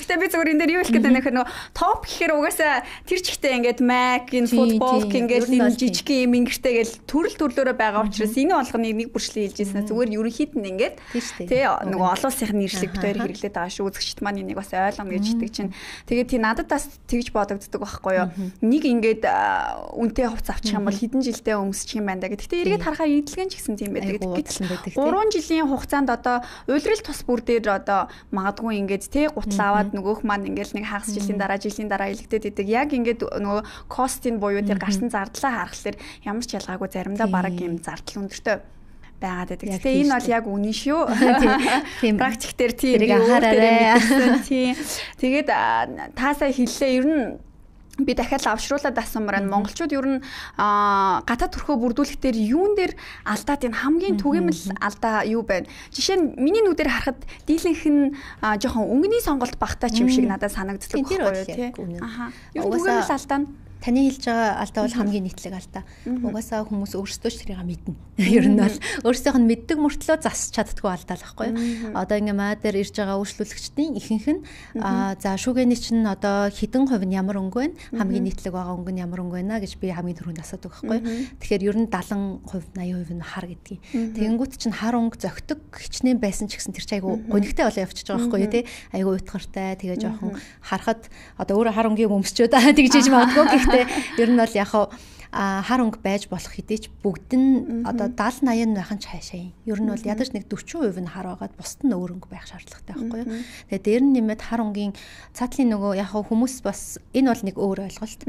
Гэтэ би зүгээр энэ дээр юу хэлэх гээд байна гэхээр нөгөө топ гэхээр угаасаа тэр чигтээ ингээд Mac, энэ футбол ингээд энэ жижиг юм ингэртэй гэл төрлөөрөө байгаа учраас энэ болгоныг нэг бүрчлэн хэлж ийснэ зүгээр ерөнхийд нь ингээд тий нөгөө олон улсын нэршлиг битээр хэрэглээд байгаа шүү. Үзэгчд маань энийг бас ойлгоно гэж итгэж чинь. Тэгээ тий надад бас тэгж бодогддог байхгүй юу. Нэг ингээд үнэтэй хувц авчих юм бол хэдэн жилдээ өмсчих юм байна да. Гэхдээ эргээд харахаар эдлэгэн ч гэсэн тийм байдаг. Гэтэл 3 жилийн хугацаанд одоо уйлрал тус бүр дээр одоо магадгүй ингээд тий гутал аваад нөгөөх маань ингээд нэг хагас жилийн дараа илэгдээд идэг. Яг ингээд нөгөө костын буюу тэр гарсан зардлаа харахаар ямар ч ялгаагүй заримдаа бараг юм зардал өндөртэй байгаад байдаг. Гэтэ энэ бол яг үнэн шүү. Тийм практик дээр тийм анхаараарай. Тийм. Тэгээд таасаа хэллээ ер нь би дахиад авшруулаад асуумаар нь монголчууд ер нь гадаад төрхөө бүрдүүлэх дээр юун дээр алдаад энэ хамгийн түгээмэл алдаа юу байна. Жишээ нь миний нүдээр харахад дийлэнх нь жоохон өнгөний сонголт багтаа ч юм шиг надад санагддаг байхгүй юу тий. Юу түгээмэл алдаа нь таны хэлж байгаа алдаа бол хамгийн нийтлэг алдаа. Угаасаа хүмүүс өөрсдөө ч тэрийг мэднэ. Ер нь бол өөрсдийнх нь мэддэг мөртлөө засч чаддгүй алдаа л байхгүй юу. Одоо ингээ маа дээр ирж байгаа үйлчлүүлэгчдийн ихэнх нь за шүүгээний чинь одоо хэдэн хувь нь ямар өнгө вэ? Хамгийн нийтлэг байгаа өнгө нь ямар өнгө вэ гэж би хамгийн түрүүнд асуудаг байхгүй юу. Тэгэхээр ер нь 70%, 80% нь хар гэдгийг. Тэгэнгүүт чинь хар өнгө зөгтөг хичнээн байсан ч гэсэн тэр чинь айгу гонигтай болоо явчихж байгаа байхгүй юу тий. Айгу уйтгартай тэгээ жоохон харахад одоо өөрөө хар өнгийг өмсчөөд тэгжээж магадгүй. Ер нь бол яг хар өнгө байж болох хэдий ч бүгд нь одоо 70-80 байхын ч хайшаа юм. Ер нь бол ядаж нэг 40% нь хар байгаад бусд нь өөр өнгө байх шаардлагатай байхгүй юу. Тэгээ дээр нь нэмээд хар өнгийн цаатлын нөгөө яг хүмүүс бас энэ бол нэг өөр ойлголт.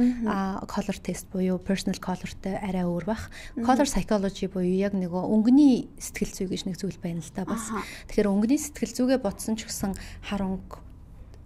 Color test буюу personal colorтэй арай өөр бах. Color psychology буюу яг нөгөө өнгөний сэтгэл зүй гэж нэг зүйл байна л да бас. Тэгэхээр өнгөний сэтгэл зүйгээ бодсон ч гэсэн хар өнгө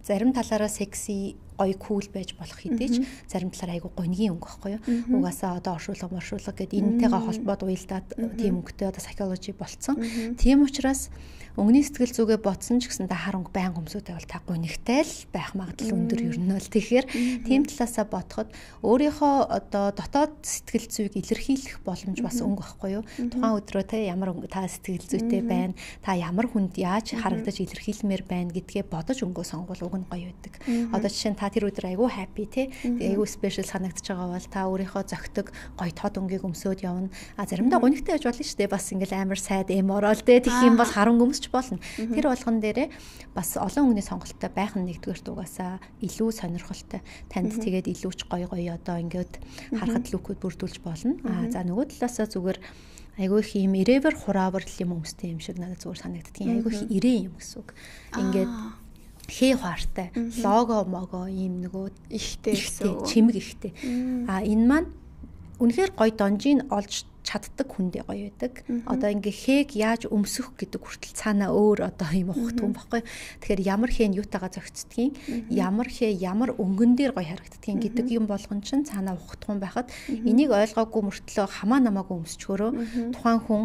зарим талаараа секси гоё кул байж болох хэдий ч зарим талаар айгу гонгийн өнгө байхгүй юу. Угаасаа одоо оршуулга гэдэг энэтэйгээ холбоод уялдаад тийм өнгөтэй одоо psychology болцсон. Тийм учраас өнгөний сэтгэл зүгээ бодсон ч гэсэн та хар өнгө байнга өмсөдэй бол та гонигтай л байх магадлал өндөр ер нь бол. Тэгэхээр тийм талаасаа бодоход өөрийнхөө одоо дотоод сэтгэл зүйг илэрхийлэх боломж бас өнгө байхгүй юу. Тухайн өдрөө те ямар та сэтгэл зүйтэй байна, та ямар хүнд яаж харагдаж илэрхийлмээр байна гэдгээ бодож өнгөө сонгол уг нь гоё байдаг. Одоо жишээ нь та тэр өдөр айгүй happy тий. Айгүй special санагдаж байгаа бол та өөрийнхөө зөгтөг гоё тод өнгийг өмсөөд явна. Заримдаа гонигтай байж болно шүү дээ. Бас ингээл амар сайд ороод тий тэгэх юм бол харан өмсч болно. Тэр болгон дээрээ бас олон өнгөний сонголттой байх нь нэгдүгээр дугаасаа илүү сонирхолтой. Танд тэгээд илүү ч гоё одоо ингээд харахад лүкүүд бүрдүүлж болно. За нөгөө талаасаа зүгээр айгүй их юм ирээвэр хураавар юм өмстэй юм шиг надад зүгээр санагддгийн. Айгүй их ирээ юм гэсэн үг. Ингээд хээ хаартай лого мого юм нөгөө ихтэй чимэг ихтэй. Энэ маань үнэхээр гоё донжийг олж чаддаг хүндээ гоё байдаг. Одоо ингээ хээг яаж өмсөх гэдэг хүртэл цаанаа өөр одоо юм ухтгүй байхгүй. Тэгэхээр ямар хэн юутаага зөгцдгийг, ямар хээ ямар өнгөн дээр гоё харагддгийг гэдэг юм болгон чинь цаанаа ухтгүй байхад энийг ойлгоогүй мөртлөө хамаа намаагүй өмсчгөрөө тухайн хүн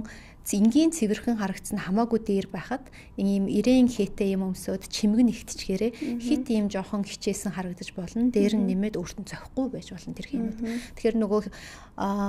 энгийн цэвэрхэн харагдсан хамаагүй дээр байхад ийм ирээн хээтэй юм өмсөд чимэг нэгтчгээрээ хит ийм жоохон хичээсэн харагдаж болно. Дээр нь нэмээд өөртөө зохихгүй байж болно тэр хэмэд. Тэгэхээр нөгөө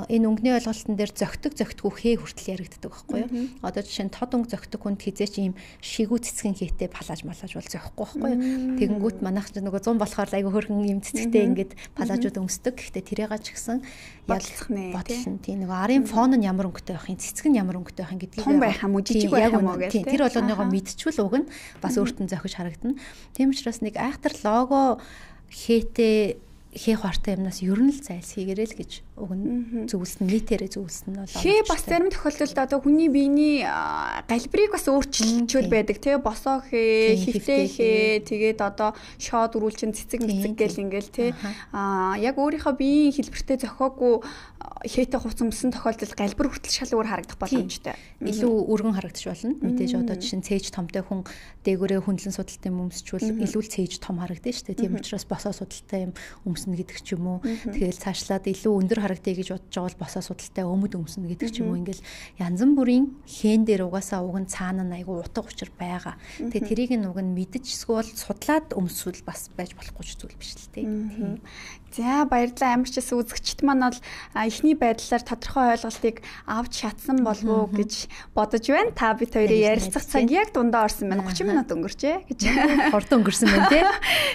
энэ өнгөний ойлголтын дээр зөгтгөө хээ хүртэл яригддаг байхгүй юу? Одоо жишээ нь тод өнгө зөгтөг хүнд хизээч ийм шигүү цэцгэн хээтэй палаж бол зохихгүй байхгүй юу? Тэгэнгүүт манайх нөгөө 100 болохоор айгүй хөрхөн ийм цэцгтэй ингээд палажууд өмсдөг. Гэхдээ тэрээга ч гэсэн бодлон тийм нөгөө арын фон нь ямар өнгөтэй байх юм, цэцэг нь ямар өнгөтэй гэдгийг том байх юм уу жижиг байх юм уу гэх тэр болгоныгоо мэдчихвэл уг нь бас өөртөө зохиж харагдана. Тийм учраас нэг айхтар лого хээтэй хээ хуартай юмнаас ер нь л зайлсхийгээрэй л гэж уг нь зөвлөсөн нийтээрээ зөвлөсөн нь бол хээ бас зарим тохиолдолд одоо хүний биений галбирыг бас өөрчилчүүл байдаг тий босоо хээ хөвтэй хээ тэгээд одоо шоод үрүүлчин цэцэг гэл ингээл тий яг өөрийнхөө биеийн хэлбэртэй зохиогүй хээтэй хувц өмсөн тохиолдолд галбир хүртэл шал өөр харагдах боломжтой. Илүү өргөн харагдаж болно. Мэдээж одоо жишээ нь цээж томтой хүн дээгүүрээ хөндлөн судалтай юм өмсчүүл илүү л цээж том харагдана шүү дээ. Тийм учраас босоо судалтай юм өмснө гэдэг ч юм уу. Тэгэл цаашлаад илүү өндөр харагдъя гэж бодож байгаа бол босоо судалтай өмд өмснө гэдэг ч юм уу. Ингээл янз бүрийн хэн дээр угаасаа уг нь цаана нь айгүй утга учир байгаа. Тэгээ тэрийг нь уг нь мэдэж эсвэл судлаад өмсвөл бас байж болохгүй зүйл биш л дээ. За баярлалаа амарчс үзэгчд маань бол эхний байдлаар тодорхой ойлголтыг авч чадсан болов уу гэж бодож байна. Та бид хоёрын ярилцах цаг яг дундаа орсон байна. 30 минут өнгөрчээ гэж. Хурдан өнгөрсөн байна тий.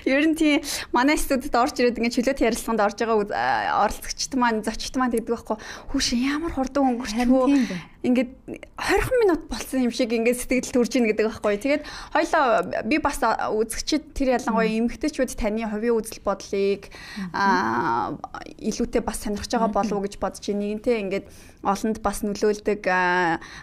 Ер нь тийм манай студид орж ирээд ингээд чөлөөт ярилцлаганд орж байгаа оролцогчд маань зочид маань гэдэг байхгүй. Хүүш ямар хурдан өнгөрчихвөө. Ингээд 20 минут болсон юм шиг ингээд сэтгэл төрж ийн гэдэг байхгүй. Тэгээд хоёлоо би бас үзэгчид тэр ялангуяа эмэгтэйчүүд таны хувийн үзэл бодлыг илүүтэй бас сонирхож байгаа болов уу гэж бодож байна. Нэгэнтээ ингээд олонд бас нөлөөлдөг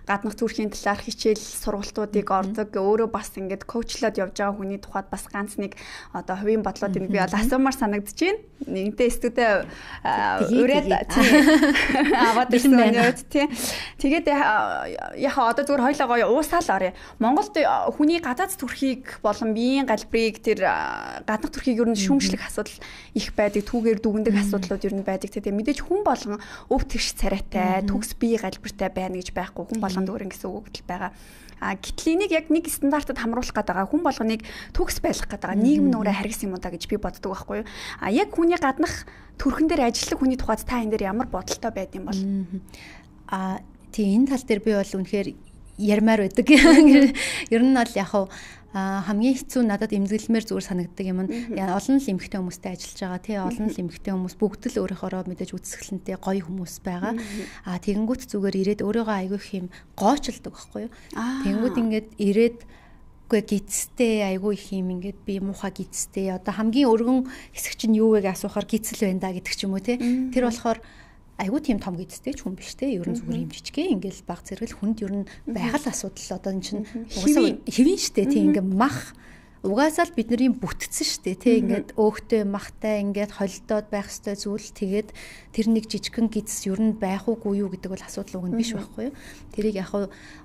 гаднах төрхийн талаар хичээл сургалтуудыг ордог. Өөрөө бас ингээд коучлаад явж байгаа хүний тухайд бас ганц нэг одоо хувийн бодлоодыг би бол асуумаар санагдаж байна. Нэгэнтээ студид ураад аваад ирсэн өнөөд тий. Тэгээд яхаа одоо зүгээр хоёлоо гоё уусаал орё. Монголд хүний гадаад төрхийг болон биеийн галбирыг тэр гаднах төрхийг ер нь шүүмжлэх асуудал их байдаг. Түүгээр дүгндэг асуудлууд ер нь байдаг. Тэгээ мэдээж хүн болгон өв тэгш царайтай, төгс бие галбиртай байна гэж байхгүй. Хүн болгонд өөр ингэсэн үг байгаа. Гэтэл энийг яг нэг стандартад хамруулах гэдэг хүн болгоныг төгс байлгах гэдэг нийгэм нүрэ харгас юм уу да гэж би боддог байхгүй юу. Яг хүний гаднах төрхөн дээр ажиллах хүний тухайд та энэ дээр ямар бодолтой байд юм бол тийм энэ тал дээр би бол үнэхээр ярмаар байдаг. Ер нь бол яг хамгийн хэцүү надад эмзэглэмээр зүгээр санагддаг юм нь олон л эмэгтэй хүмүүстэй ажиллаж байгаа тий олон л эмэгтэй хүмүүс бүгд л өөрийнхоороо мэдээж үсгэлэнтэй гоё хүмүүс байгаа. Тэгэнгүүт зүгээр ирээд өөрийгөө айгүй их юм гоочилдог байхгүй юу. Тэгэнгүүт ингээд ирээд үгүй гидстэй айгүй их юм ингээд би муухай гидстэй одоо хамгийн өргөн хэсэг чинь юу вэ гэж асуухаар гидсэл байна да гэдэг ч юм уу тий. Тэр болохоор айгүй тийм том гидстэй ч хүн биш те ер нь зүгээр юм жижигхэн ингээл баг зэрэгэл хүнд ер нь байгаль асуудал одоо эн чинь угаасаа хэвэн штэ тийм ингээ мах угаасаа л бидний бүтцэн штэ тий ингээд өөхтэй махтай ингээд холдоод байх ёстой зүйл тэгээд тэр нэг жижигхэн гидс ер нь байх уугүй юу гэдэг бол асуудал уг нь биш байхгүй юу. Тэрийг яг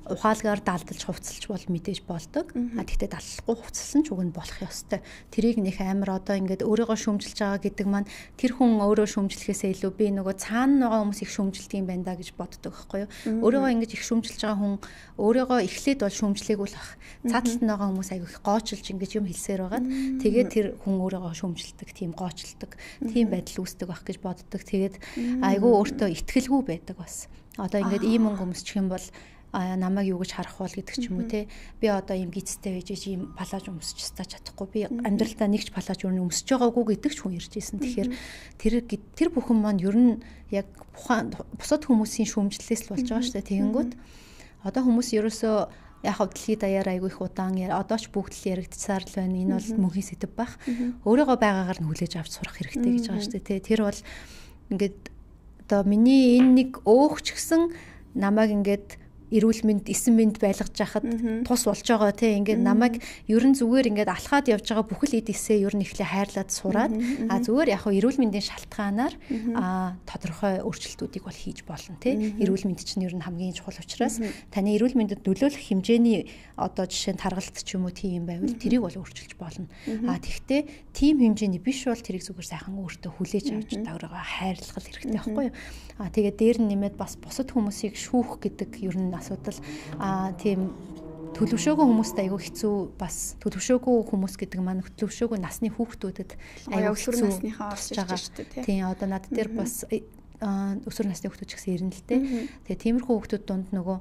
ухаалгаар далдалж хувцалж бол мэдээж болдог. Тэгтээ даллахгүй хувцалсан ч уг нь болох ёстой. Тэрийг нэх амар одоо ингээд өөрийгөө шүүмжилж байгаа гэдэг маань тэр хүн өөрөө шүүмжлэхээсээ илүү би нөгөө цаана байгаа хүмүүс их шүүмжилдэг юм байна да гэж боддог байхгүй юу. Өөрийгөө ингэж их шүүмжилж байгаа хүн өөрийгөө эхлээд бол шүүмжлээгүй л бах. Цааталт нь байгаа хүмүүс айгүй их гоочилж ингэж юм хэлсээр байгаад тэгээд тэр хүн өөрийгөө шүүмжилдэг, тийм гоочилдог, тийм байдал үүсдэг байх гэж боддог. Тэгээд айгүй өөртөө итгэлгүй байдаг бас. Одоо ингээд ийм өнгө өмсчих юм бол намайг юу гэж харах бол гэдэг ч юм уу те. Би одоо ийм гизтэй байж ийм палаж өмсөж чадахгүй. Би амьдралдаа нэг ч палаж өмсөж байгаагүй гэдэг ч хүн ирж ирсэн. Тэгэхээр тэр бүхэн маань ер нь яг бусад хүмүүсийн шүүмжлэлээс л болж байгаа шүү дээ. Тэгэнгүүт одоо хүмүүс ерөөсөө яг дэлхийд даяар айгүй их удаан одоо ч бүгд л яригдсаар л байна. Энэ бол мөнхийн сэдв байх. Өөрийгөө байгаагаар нь хүлээж авч сурах хэрэгтэй гэж байгаа шүү дээ. Тэр бол ингээд одоо миний энэ нэг өөгч гсэн намайг ингээд эрүүл мэнд, эсэн мэнд байлгаж яхад тус болж байгаа тийм ингээд намайг ерөн зүгээр ингээд алхаад явж байгаа бүхэл эд эсээ ер нь ихлэ хайрлаад сураад зүгээр яг хөө эрүүл мэндийн шалтгаанаар тодорхой өөрчлөлтүүдийг бол хийж болно тийм. Эрүүл мэнд чинь ер нь хамгийн чухал учраас таны эрүүл мэндэд нөлөөлөх хэмжээний одоо жишээ нь таргалт ч юм уу тийм байвал тэрийг бол өөрчилж болно. Тэгвэл тийм хэмжээний биш бол тэрийг зүгээр сайхан өөртөө хүлээж авч өөрийгөө хайрлах хэрэгтэй байхгүй юу? Тэгээд дээр нь нэмээд бас бусад хүмүүсийг шүүх гэдэг ер нь асуудал тийм төлөвшөөгүй хүмүүст аягүй хэцүү бас төлөвшөөгүй хүмүүс гэдэг маань төлөвшөөгүй насны хүүхдүүдэд аягүй хэцүү насныхаа орж ирж шүү дээ тийм одоо над дээр бас өсвөр насны хүүхдүүд ч гэсэн ирнэ л дээ. Тэгээ тиймэрхүү хүүхдүүд дунд нөгөө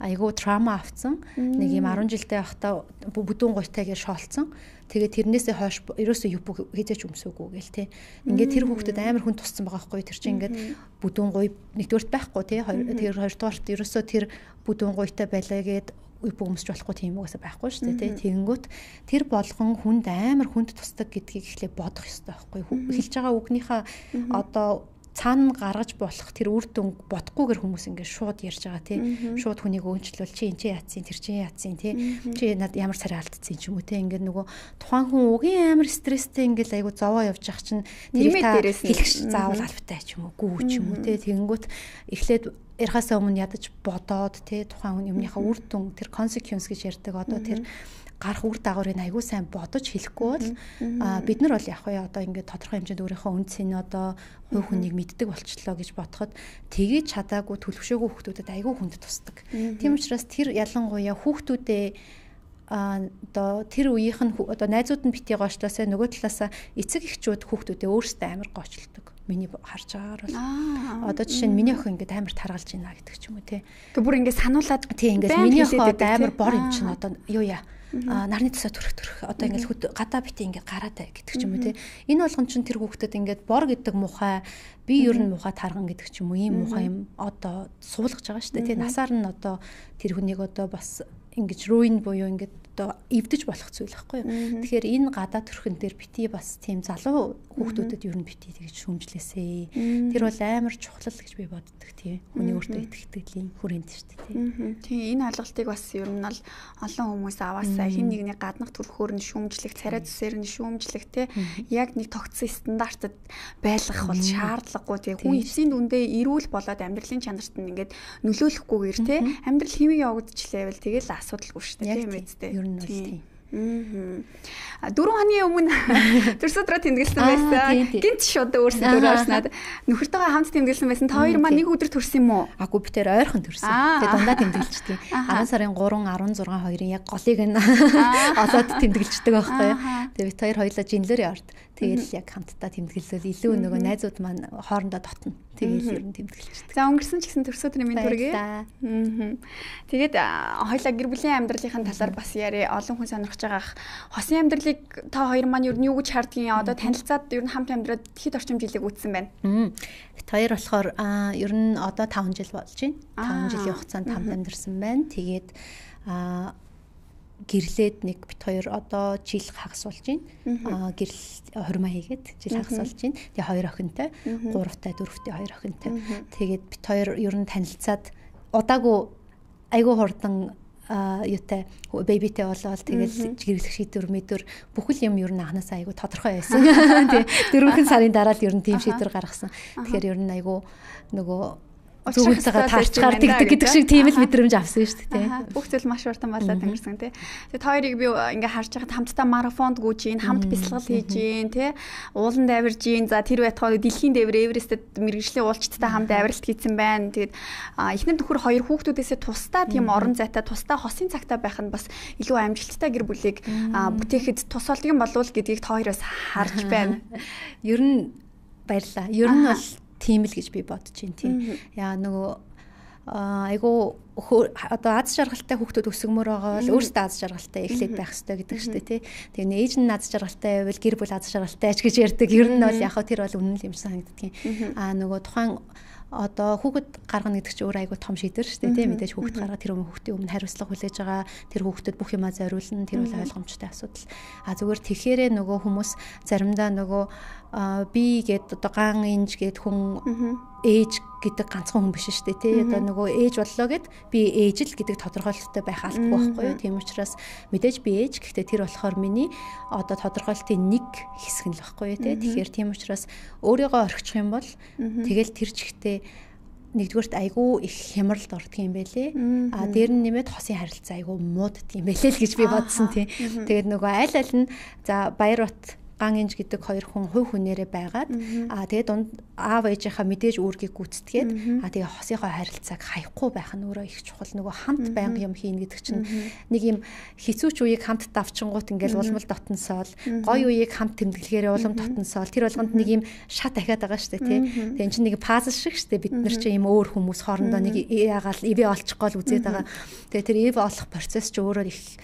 айгүй трама авцсан нэг юм 10 жилдээ байхдаа бүдүүн гуйтайгаар шоолцсон. Тэгээ тэрнээсээ хойш ерөөсөө юу хизээч өмсөөгүй гээл те. Ингээд тэр хүүхдэд амар хүн туссан байгаа хгүй тэр чинь ингээд бүдүүн гуй нэгдүгээрт байхгүй те. Тэр хоёрдугаарт ерөөсөө тэр бүдүүн гуйтай байлаа гээд үгүй өмсч болохгүй тийм үгээс байхгүй шүү дээ тий. Тэгэнгүүт тэр болгон хүнд амар хүнд тусдаг гэдгийг эхлээ бодох ёстой байхгүй. Хэлж байгаа үгнийхээ одоо цаана гаргаж болох тэр үр дүн бодохгүйгээр хүмүүс ингээд шууд ярьж байгаа тий. Шууд хүнийг өөнчлөл чи энэ яатсан тэр чи яатсан тий. Чи над ямар царай алдсан ч юм уу тий. Ингээд нөгөө тухайн хүн угийн амар стресстэй ингээд айгу зовоо явж ах чинь тэрийг та хэлэх заавал албатай ч юм уу гүү ч юм уу тий. Тэгэнгүүт эхлээд ярихаас өмнө ядаж бодоод тий тухайн хүн юмныхаа үр дүн тэр consequence гэж ярьдаг одоо тэр гарах үр дагаврыг аягүй сайн бодож хэлэхгүй бол бид нар бол яг хөө одоо ингээд тодорхой хэмжээнд өөрийнхөө үнцийг одоо хувь хүнийг мэддэг болчлоо гэж бодоход тгийж чадаагүй төлөвшөөгүй хүүхдүүдэд аягүй хүнд тусдаг. Тийм учраас тэр ялангуяа хүүхдүүдээ одоо тэр үеийнх нь одоо найзууд нь битгий гоочлоосаа нөгөө талаасаа эцэг эхчүүд хүүхдүүдээ өөрсдөө амар гоочилдог. Миний харж байгаагаар бол одоо жишээ нь миний охин ингээд амар таргалж байна гэдэг ч юм уу тий. Тэг бүр ингээд сануулад тий ингээд миний охин амар бор юм чинь одоо юу яа нарны тусаа төрөх одоо ингээд гадаа битээ ингээд гараад бай гэдэг ч юм уу тий. Энэ болгон чинь тэр хүүхдэд ингээд бор гэдэг мухай би ер нь мухай тарган гэдэг ч юм уу ийм мухай юм одоо суулгаж байгаа шүү дээ тий. Насаар нь одоо тэр хүнийг одоо бас ингэж ruin буюу ингээд одоо эвдэж болох зүйл байхгүй юу. Тэгэхээр энэ гадаа төрхөн дээр бити бас тийм залуу хүүхдүүдэд ер нь бити тэгж шүүмжлээсэй. Тэр бол амар чухал гэж би боддог тийм. Хүний өөртөө итгэлийн хүрээнд шүү дээ тийм. Тийм энэ ойлголтыг бас ер нь бол олон хүмүүс аваасаа хэн нэгний гаднах төрхөөр нь шүүмжлэх, царай зүсээр нь шүүмжлэх тийм. Яг нэг тогтсон стандартад байлгах бол шаардлагагүй тийм. Хүн эцсийн дүндээ эрүүл болоод амьдралын чанарт нь ингээд нөлөөлөхгүйгээр тийм. Амьдрал хэвээ явагдчихлээвэл тэгэл асуудалгүй шүү дээ тийм үстэй. Ер нь бол тийм. 4 хоногийн өмнө төрсөдрөө тэмдэглэсэн байсан. Гинт шууд өөрсдөө өөрөөснөд нөхөртөөгөө хамт тэмдэглэсэн байсан. Та хоёр маань нэг өдөр төрсөн юм уу? Агүй би тэр ойрхон төрсөн. Тэгээ дандаа тэмдэглэждэг. 10 сарын 3, 16, 2-ын яг голыг нь олоод тэмдэглэждэг байхгүй юу? Тэгээ би хоёр хоёлаа жинлэр явард. Тэгээл яг хамтдаа тэмдэглэлэл илүү нөгөө найзууд маань хоорондоо дотно. Тэгээл ер нь тэмдэглэждэг. За өнгөрсөн ч гэсэн төрсөдрийн минь төргий. Тэгээд хоёлаа гэр бүлийн амьдралын талаар бас яри олон хүн сонирхож байгаа. Хосын амьдралыг та хоёр маань ер нь юу гэж хардгийг одоо танилцаад ер нь хамт амьдраад хэд орчим жилиг үтсэн байна. Хоёр болохоор ер нь одоо 5 жил болж байна. 5 жилийн хугацаанд хамт амьдарсан байна. Тэгээд гэрлээд нэг бит хоёр одоо жил хагас болж байна. Гэрэл хурмаа хийгээд жил хагас болж байна. Тэгээ хоёр охинтой, 3-тай, 4-тэй хоёр охинтой. Тэгээд бит хоёр ер нь танилцаад удаагүй айгүй хурдан юутай бэбитэй болоод тэгэл гэрлэх шийдвэр мэдвэр бүхэл юм ер нь анханасаа айгүй тодорхой байсан. Тэгээ 4 сарын дараа л ер нь тийм шийдвэр гаргасан. Тэгэхээр ер нь айгүй нөгөө зүгтайгаа таарчгаар тэгдэг гэдэг шиг тийм л мэдрэмж авсан шүү дээ. Бүх зүйл маш уртан болоод өнгөрсөн тий. Тэгээд хоёрыг би ингээ харж байхад хамтдаа марафонд гүйж ийн, хамт бясалгал хийж ийн, тий. Уулан давирж ийн. За тэр байтугай дэлхийн дээвэр Эверестэд мэрэгжлийн уулчтай хамт авиралт хийсэн байна. Тэгээд эхнэр нөхөр хоёр хүүхдүүдээсээ тусдаа тийм орон зайтай, тусдаа хосын цагтаа байх нь бас илүү амжилттай гэр бүлийг бүтээхэд тус болдгийм болов гэдгийг та хоёроос харж байна. Ер нь баярлаа. Ер нь бол тийм л гэж би бодож байна тийм. Яа нөгөө айгу одоо аз жаргалтай хүүхдүүд өсгмөр байгаа бол өөрсдөө аз жаргалтай эхлээд байх хэрэгтэй гэдэг шүү дээ тий. Тэгээ ээж нь аз жаргалтай байвал гэр бүл аз жаргалтай ч гэж ярьдаг. Ер нь бол яг хөө тэр бол үнэн л юм санагддаг. Нөгөө тухайн одоо хүүхэд гаргана гэдэг чинь өөр айгу том шийдвэр шүү дээ тийм мэдээж хүүхэд гаргаад тэр хүүхдийн өмнө хариуцлага хүлээж байгаа тэр хүүхдэд бүх юмаа зориулна тэр бол ойлгомжтой асуудал. Зүгээр тэгэхээр нөгөө хүмүүс заримдаа нөгөө би гээд одоо ган инж гээд хүн ээж гэдэг ганцхан хүн биш шүү дээ тий. Одоо нөгөө ээж боллоо гэд би ээж л гэдэг тодорхойлолттой байх албагүй байхгүй юу. Тийм учраас мэдээж би ээж гэхдээ тэр болохоор миний одоо тодорхойлолтын нэг хэсэг нь л байхгүй юу тий. Тэгэхээр тийм учраас өөрийгөө орхичих юм бол тэгэл тэр чигтээ нэгдүгээрт айгүй их хямралд ордог юм байлээ. Дээр нь нэмээд хосын харилцаа айгүй мууддаг юм байлээ л гэж би бодсон тий. Тэгээд нөгөө аль нь за Баярбат ган инж гэдэг хоёр хүн хувь хүнээрээ байгаад тэгээд дунд аав ээжийнхаа мэдээж үүргийг гүйцэтгээд тэгээ хосынхоо харилцааг хаяхгүй байх нь өөрөө их чухал. Нөгөө хамт байнга юм хийн гэдэг чинь нэг юм хэцүү ч үеийг хамт давчингууд ингээл улмал дотносоол гоё үеийг хамт тэмдэглэхээрээ улам дотносоол тэр болгонд нэг юм шат дахиад байгаа шүү дээ тий. Тэгээ эн чинь нэг пазл шиг шүү дээ. Бид нар чинь юм өөр хүмүүс хоорондоо нэг яагаал ивэ олчихгоо л үзээд байгаа. Тэгээ тэр ивэ олох процесс ч өөрөө их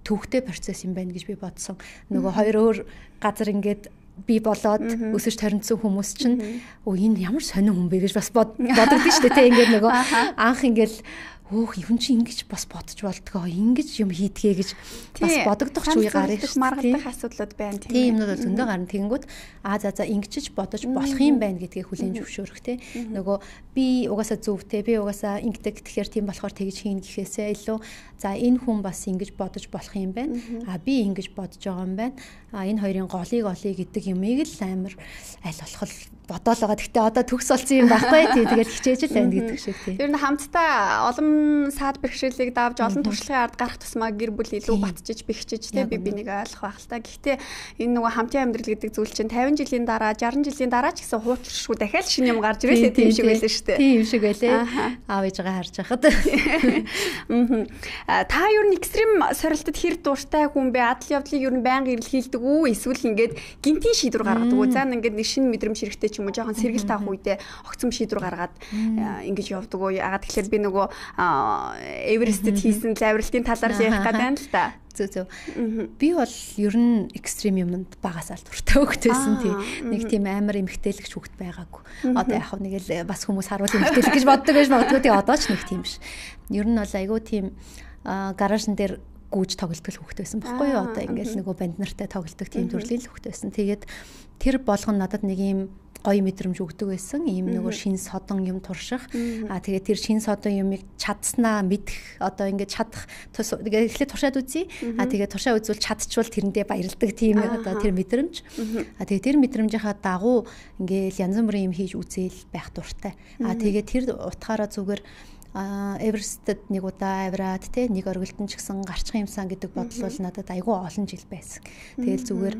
төвхтэй процесс юм байна гэж би бодсон. Нөгөө хоёр өөр газар ингээд би болоод өсөж торинцсан хүмүүс чинь энэ ямар сонин хүн бэ гэж бас бодогдсон шүү дээ те. Ингээд нөгөө анх ингээд юм чи ингэж бас бодож болдгоо ингэж юм хийдгээ гэж бас бодогдох ч үе гарах шүү. Маргадах асуудлууд байна тийм юмнууд зөндөө гарна. Тэгэнгүүт за ингэчиж бодож болох юм байна гэдгийг хүлээн зөвшөөрөх те. Нөгөө би угаасаа зөвтэй би угаасаа ингэдэг тэгэхээр тийм болохоор тэгж хийн гэхээсээ илүү за энэ хүн бас ингэж бодож болох юм байна. Би ингэж бодож байгаа юм байна. Энэ хоёрын голыг гэдэг юмыг л амар аль болох бодоол байгаа. Гэхдээ одоо төгс болсон юм байхгүй тий. Тэгэл хичээж л байна гэдэг шиг тий. Ер нь хамтдаа олон саад бэрхшээлийг давж олон туршлагын ард гарах тусмаа гэр бүл илүү батжиж бэхжиж тий би бинийг ойлгох байх л та. Гэхдээ энэ нөгөө хамтын амьдрал гэдэг зүйл чинь 50 жилийн дараа 60 жилийн дараа ч гэсэн хуучршгүй дахиад шинэ юм гарч ирээ тийм шиг байлаа шүү дээ. Тийм шиг байлээ. Аав ээжгээ харж байхад. Та ер нь экстрим сорилтод хэр дуртай хүн бэ? Адал явдлыг ер нь байнга эрэлхийлдэг үү? Эсвэл ингээд гинтийн шийдвэр гаргадаг үү? За ингээд нэг шинэ мэдрэмж хэрэгтэй ч юм уу жоохон сэргэл таах үедээ огцом шийдвэр гаргаад ингэж явдаг уу? Ягаад тэгэхээр би нөгөө Эверестэд хийсэн лавралтын талаар л ярих гэдэг юм л та. Зөв. Би бол ер нь экстрим юмд багасаа л дуртай хөвгтэйсэн тий. Нэг тийм амар эмгтээлэгч хөвгт байгаагүй. Одоо яг нэг л бас хүмүүс харуул эмгтээлэг гэж боддог байж магадгүй тий одоо ч нэг тийм биш. Ер нь бол айгүй тийм гаражн дээр гүйж тоглолтол хөвгт байсан байхгүй юу? Одоо ингээл нөгөө банд нартай тоглолтог тийм төрлийн л хөвгт байсан. Тэгээд тэр болгон надад нэг юм гоё мэдрэмж өгдөг байсан. Ийм нөгөө шин содон юм турших. Тэгээд тэр шин содон юмыг чадснаа мэдэх одоо ингээд чадах эхлээд туршаад үзье. Тэгээд туршаа үзвэл чадчихвал тэрэндээ баярлдаг тийм одоо тэр мэдрэмж. Тэгээд тэр мэдрэмжийнхаа дагуу ингээд янз бүрийн юм хийж үзээл байх дуртай. Тэгээд тэр утгаараа зүгээр Эверестэд нэг удаа авираад те нэг оргилтон ч гэсэн гарчих юмсан гэдэг бодол бол надад айгүй олон жил байсан. Тэгэл зүгээр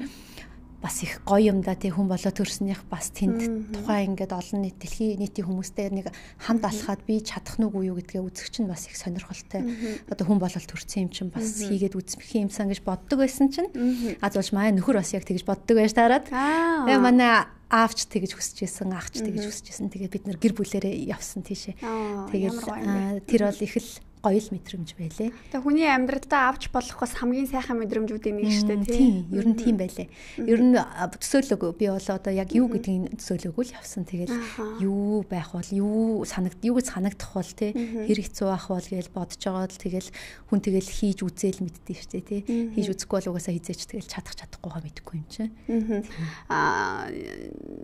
бас их гоё юм да тий хүн болоо төрснийх бас тэнд тухайн ингээд олон нийт дэлхийн нийтийн хүмүүстэй нэг хамт алхаад би чадах нүг үү гэдгээ үзэх чинь бас их сонирхолтой. Одоо хүн болол төрсэн юм чинь бас хийгээд үзэх юмсан гэж боддог байсан чинь зулж маа нөхөр бас яг тэгж боддог байж таарад. Тэгээ манай аавч тэгж хүсэжсэн, ахч тэгж хүсэжсэн. Тэгээд бид нэр гэр бүлээрээ явсан тийшээ. Тэгэл тэр бол их л гоё л мэдрэмж байлээ. Тэгээ хүний амьдралдаа авч болох бас хамгийн сайхан мэдрэмжүүдийн нэг шүү дээ тийм. Ер нь тийм байлээ. Ер нь төсөөлөөгүй би бол одоо яг юу гэдгийг төсөөлөөгүй л явсан. Тэгэл юу байх бол юу гэж санагдах бол тий хэр хэцүү байх бол гэж бодож байгаа л тэгэл хүн тэгэл хийж үзээл мэддээ шүү дээ тий. Хийж үзэхгүй бол угаасаа хизээч тэгэл чадахгүйгаа мэдэхгүй юм чинь.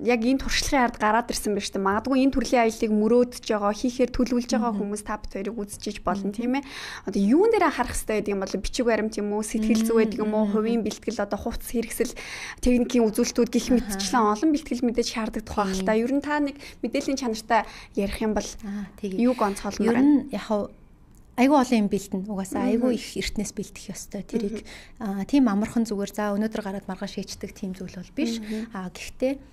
Яг энэ туршлагын ард гараад ирсэн байна шүү дээ. Магадгүй энэ төрлийн аяллыг мөрөөдөж байгаа, хийхээр төлөвлөж байгаа хүмүүс та бүхэн үзчихэж болно тийм ээ. Одоо юун дээр анхаарах хэрэгтэй гэдэг юм бол бичиг баримт юм уу, сэтгэл зүй гэдэг юм уу, хувийн бэлтгэл одоо хувцас хэрэгсэл техникийн үзүүлэлтүүд гэх мэтчлэн олон бэлтгэл мэдээж шаарддаг тухай л та. Ер нь та нэг мэдээллийн чанартай ярих юм бол юуг онцгойлмоор байна? Ер нь яг айгүй олон юм бэлтэн. Угаасаа айгүй их эртнээс бэлтэх ёстой. Тэрийг тийм амархан зүгээр за өнөөдөр гараад маргааш хийчдэг тийм зүйл бол биш. Гэхдээ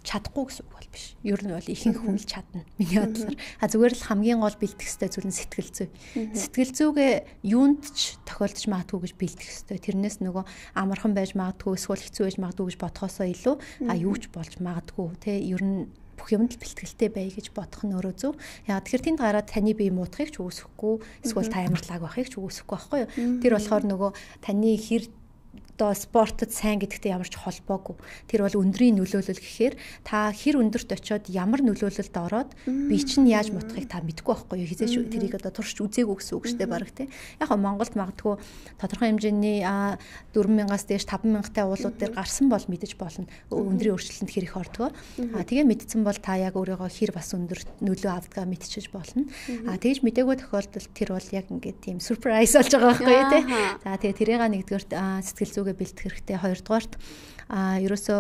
чадахгүй гэсэн үг бол биш. Ер нь бол ихэнх хүн л чадна. Миний бодлоор. Зүгээр л хамгийн гол бэлдэх ёстой зүйл нь сэтгэл зүй. Сэтгэл зүйгээ юунд ч тохиолдож магадгүй гэж бэлдэх ёстой. Тэрнээс нөгөө амархан байж магадгүй, эсвэл хэцүү байж магадгүй гэж бодхосоо илүү юу ч болж магадгүй. Тэ ер нь бүх юмд л бэлтгэлтэй бай гэж бодох нь өөрөө зөв. Яг тэгэхээр тэнд гараад таны бие муудахыг ч үгүйсэхгүй, эсвэл та амар лаг байхыг ч үгүйсэхгүй байхгүй юу? Тэр болохоор нөгөө таны хэр одоо спортод сайн гэдэгтэй ямар ч холбоогүй. Тэр бол өндрийн нөлөөлөл гэхээр та хэр өндөрт очиод ямар нөлөөлөлд ороод би чинь яаж мутахыг та мэдэхгүй байхгүй юу? Хизээч тэрийг одоо туршиж үзээгүй гэсэн үг шүү дээ баг тий. Яг нь Монголд магадгүй тодорхой хэмжээний 4,000-аас дээш 5,000-тай уулууд дээр гарсан бол мэдэж болно. Өндрийн өөрчлөлтөнд хэр их ордгоо. Тэгээ мэдсэн бол та яг өөрийгөө хэр бас өндөрт нөлөө авдгаа мэдчихэж болно. Тэгж мдэггүй тохиолдолд тэр бол яг ингээд тийм surprise болж байгаа байхгүй юу тий. За тэгээ тэрийг нэгдүгээрт сэтгэл зүгээ бэлтгэх хэрэгтэй. Хоёрдугаарт ерөөсөө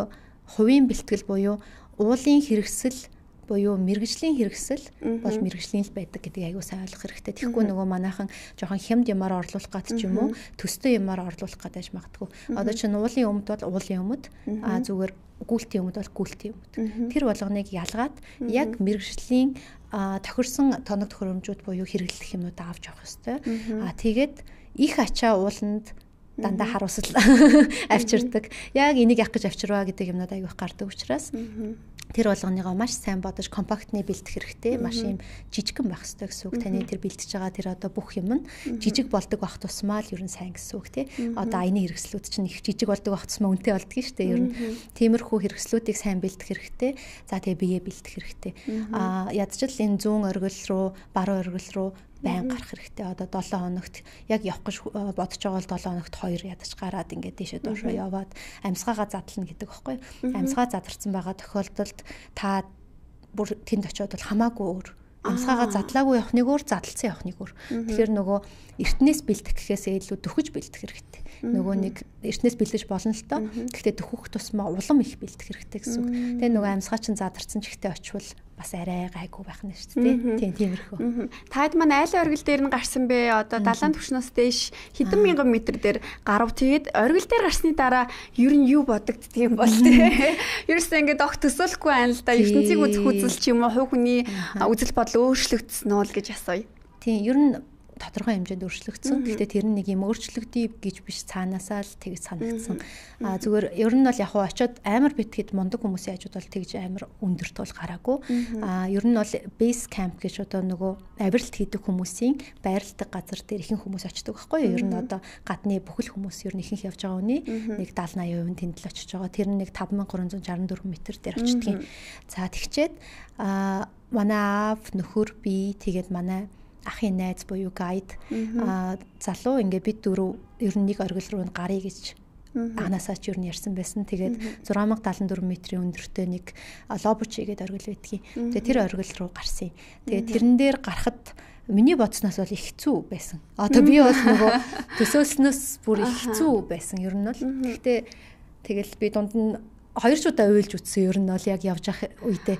хувийн бэлтгэл буюу уулын хэрэгсэл буюу мэрэгжлийн хэрэгсэл бол мэрэгжлийн л байдаг гэдгийг аягүй сайн ойлгох хэрэгтэй. Тэгэхгүй нөгөө манайхан жоохон хямд юмар орлуулах гад ч юм уу төстэй юмар орлуулах гадаж магадгүй. Одоо чинь уулын өмд бол уулын өмд зүгээр гүйлтийн өмд бол гүйлтийн өмд. Тэр болгоныг ялгаад яг мэрэгжлийн тохирсон тоног төхөөрөмжүүд буюу хэрэглэх юмнуудаа авч явах хэрэгтэй. Тэгээд их ачаа ууланд дандаа харуулсал авчирдаг. Яг энийг явах гэж авчирваа гэдэг юмнууд аягүй их гардаг учраас тэр болгоныгоо маш сайн бодож компактны бэлдэх хэрэгтэй. Маш юм жижигхэн байх хэрэгтэй гэсэн үг. Таны тэр бэлдэж байгаа тэр одоо бүх юм нь жижиг болдог байх тусмаа л ер нь сайн гэсэн үг тий. Одоо аяны хэрэгслүүд чинь их жижиг болдог байх тусмаа үнэтэй болдог шүү дээ. Ер нь тиймэрхүү хэрэгслүүдийг сайн бэлдэх хэрэгтэй. За тэгээ бие бэлдэх хэрэгтэй. Ядчил энэ зүүн оргил руу, баруун оргил руу байн гарах хэрэгтэй. Одоо 7 хоногт яг явах гэж бодож байгаа бол 7 хоногт 2 ядаж гараад ингээд тийшээ доошоо яваад амьсгаагаа задлна гэдэг байхгүй. Амьсгаа задарсан байгаа тохиолдолд та бүр тэнд очиод бол хамаагүй өөр. Амьсгаагаа задлаагүй явах нэг өөр, задлцсан явах нэг өөр. Тэгэхээр нөгөө эртнээс бэлдэх гэхээсээ илүү дөхөж бэлдэх хэрэгтэй. Нөгөө нэг эртнээс бэлдэж болно л доо. Гэхдээ дөхөх тусмаа улам их бэлдэх хэрэгтэй гэсэн үг. Тэгээ нөгөө амьсгаа чинь задарсан ч ихтэй очивол бас арай гайгүй байх нь шүү дээ. Тийм тиймэрхүү. Таад маань айлын оргил дээр нь гарсан бэ? Одоо далайн түвшнээс дээш хэдэн мянган метр дээр гарав. Тэгээд оргил дээр гарсны дараа ер нь юу бодогддөг юм бол тээ. Ерөөсөө ингээд огт төсөөлөхгүй байна л да. ертөнцийг үзэх үзэл ч юм уу, хувь хүний үзэл бодол өөрчлөгдсөн нь л гэж асууя. Тийм ер нь тодорхой хэмжээнд өөрчлөгдсөн. Гэхдээ тэр нь нэг юм өөрчлөгдөе гэж биш, цаанаасаа л тэгж санагдсан. Зүгээр ер нь бол яг хуу очиод амар битгэд мундаг хүмүүсийн хажууд бол тэгж амар өндөрт бол гараагүй. Ер нь бол base camp гэж одоо нөгөө авиралт хийдэг хүмүүсийн байрладаг газар дээр ихэнх хүмүүс очдог байхгүй юу? Ер нь одоо гадны бүхэл хүмүүс ер нь ихэнх явж байгаа үний нэг 70-80% тэнд л очиж байгаа. Тэр нь нэг 5364 м дээр очдөг. За тэгчээд манай аав, нөхөр, би тэгээд манай ахын найз буюу гайд залуу ингээд бид дөрөв ер нь нэг оргил руу гарыг гэж анасаач ер нь ярьсан байсан. Тэгээд 6074 м-ийн өндөртэй нэг лобучи гэдэг оргил байдгийг. Тэгээд тэр оргил руу гарсан. Тэгээд тэрэн дээр гарахад миний бодсноос бол их хэцүү байсан. Одоо би бол нөгөө төсөөлснөөс бүр их хэцүү байсан. Ер нь бол гэхдээ тэгэл би дунд нь 2 удаа уйлж үтсэн. Ер нь бол яг явж явах үедээ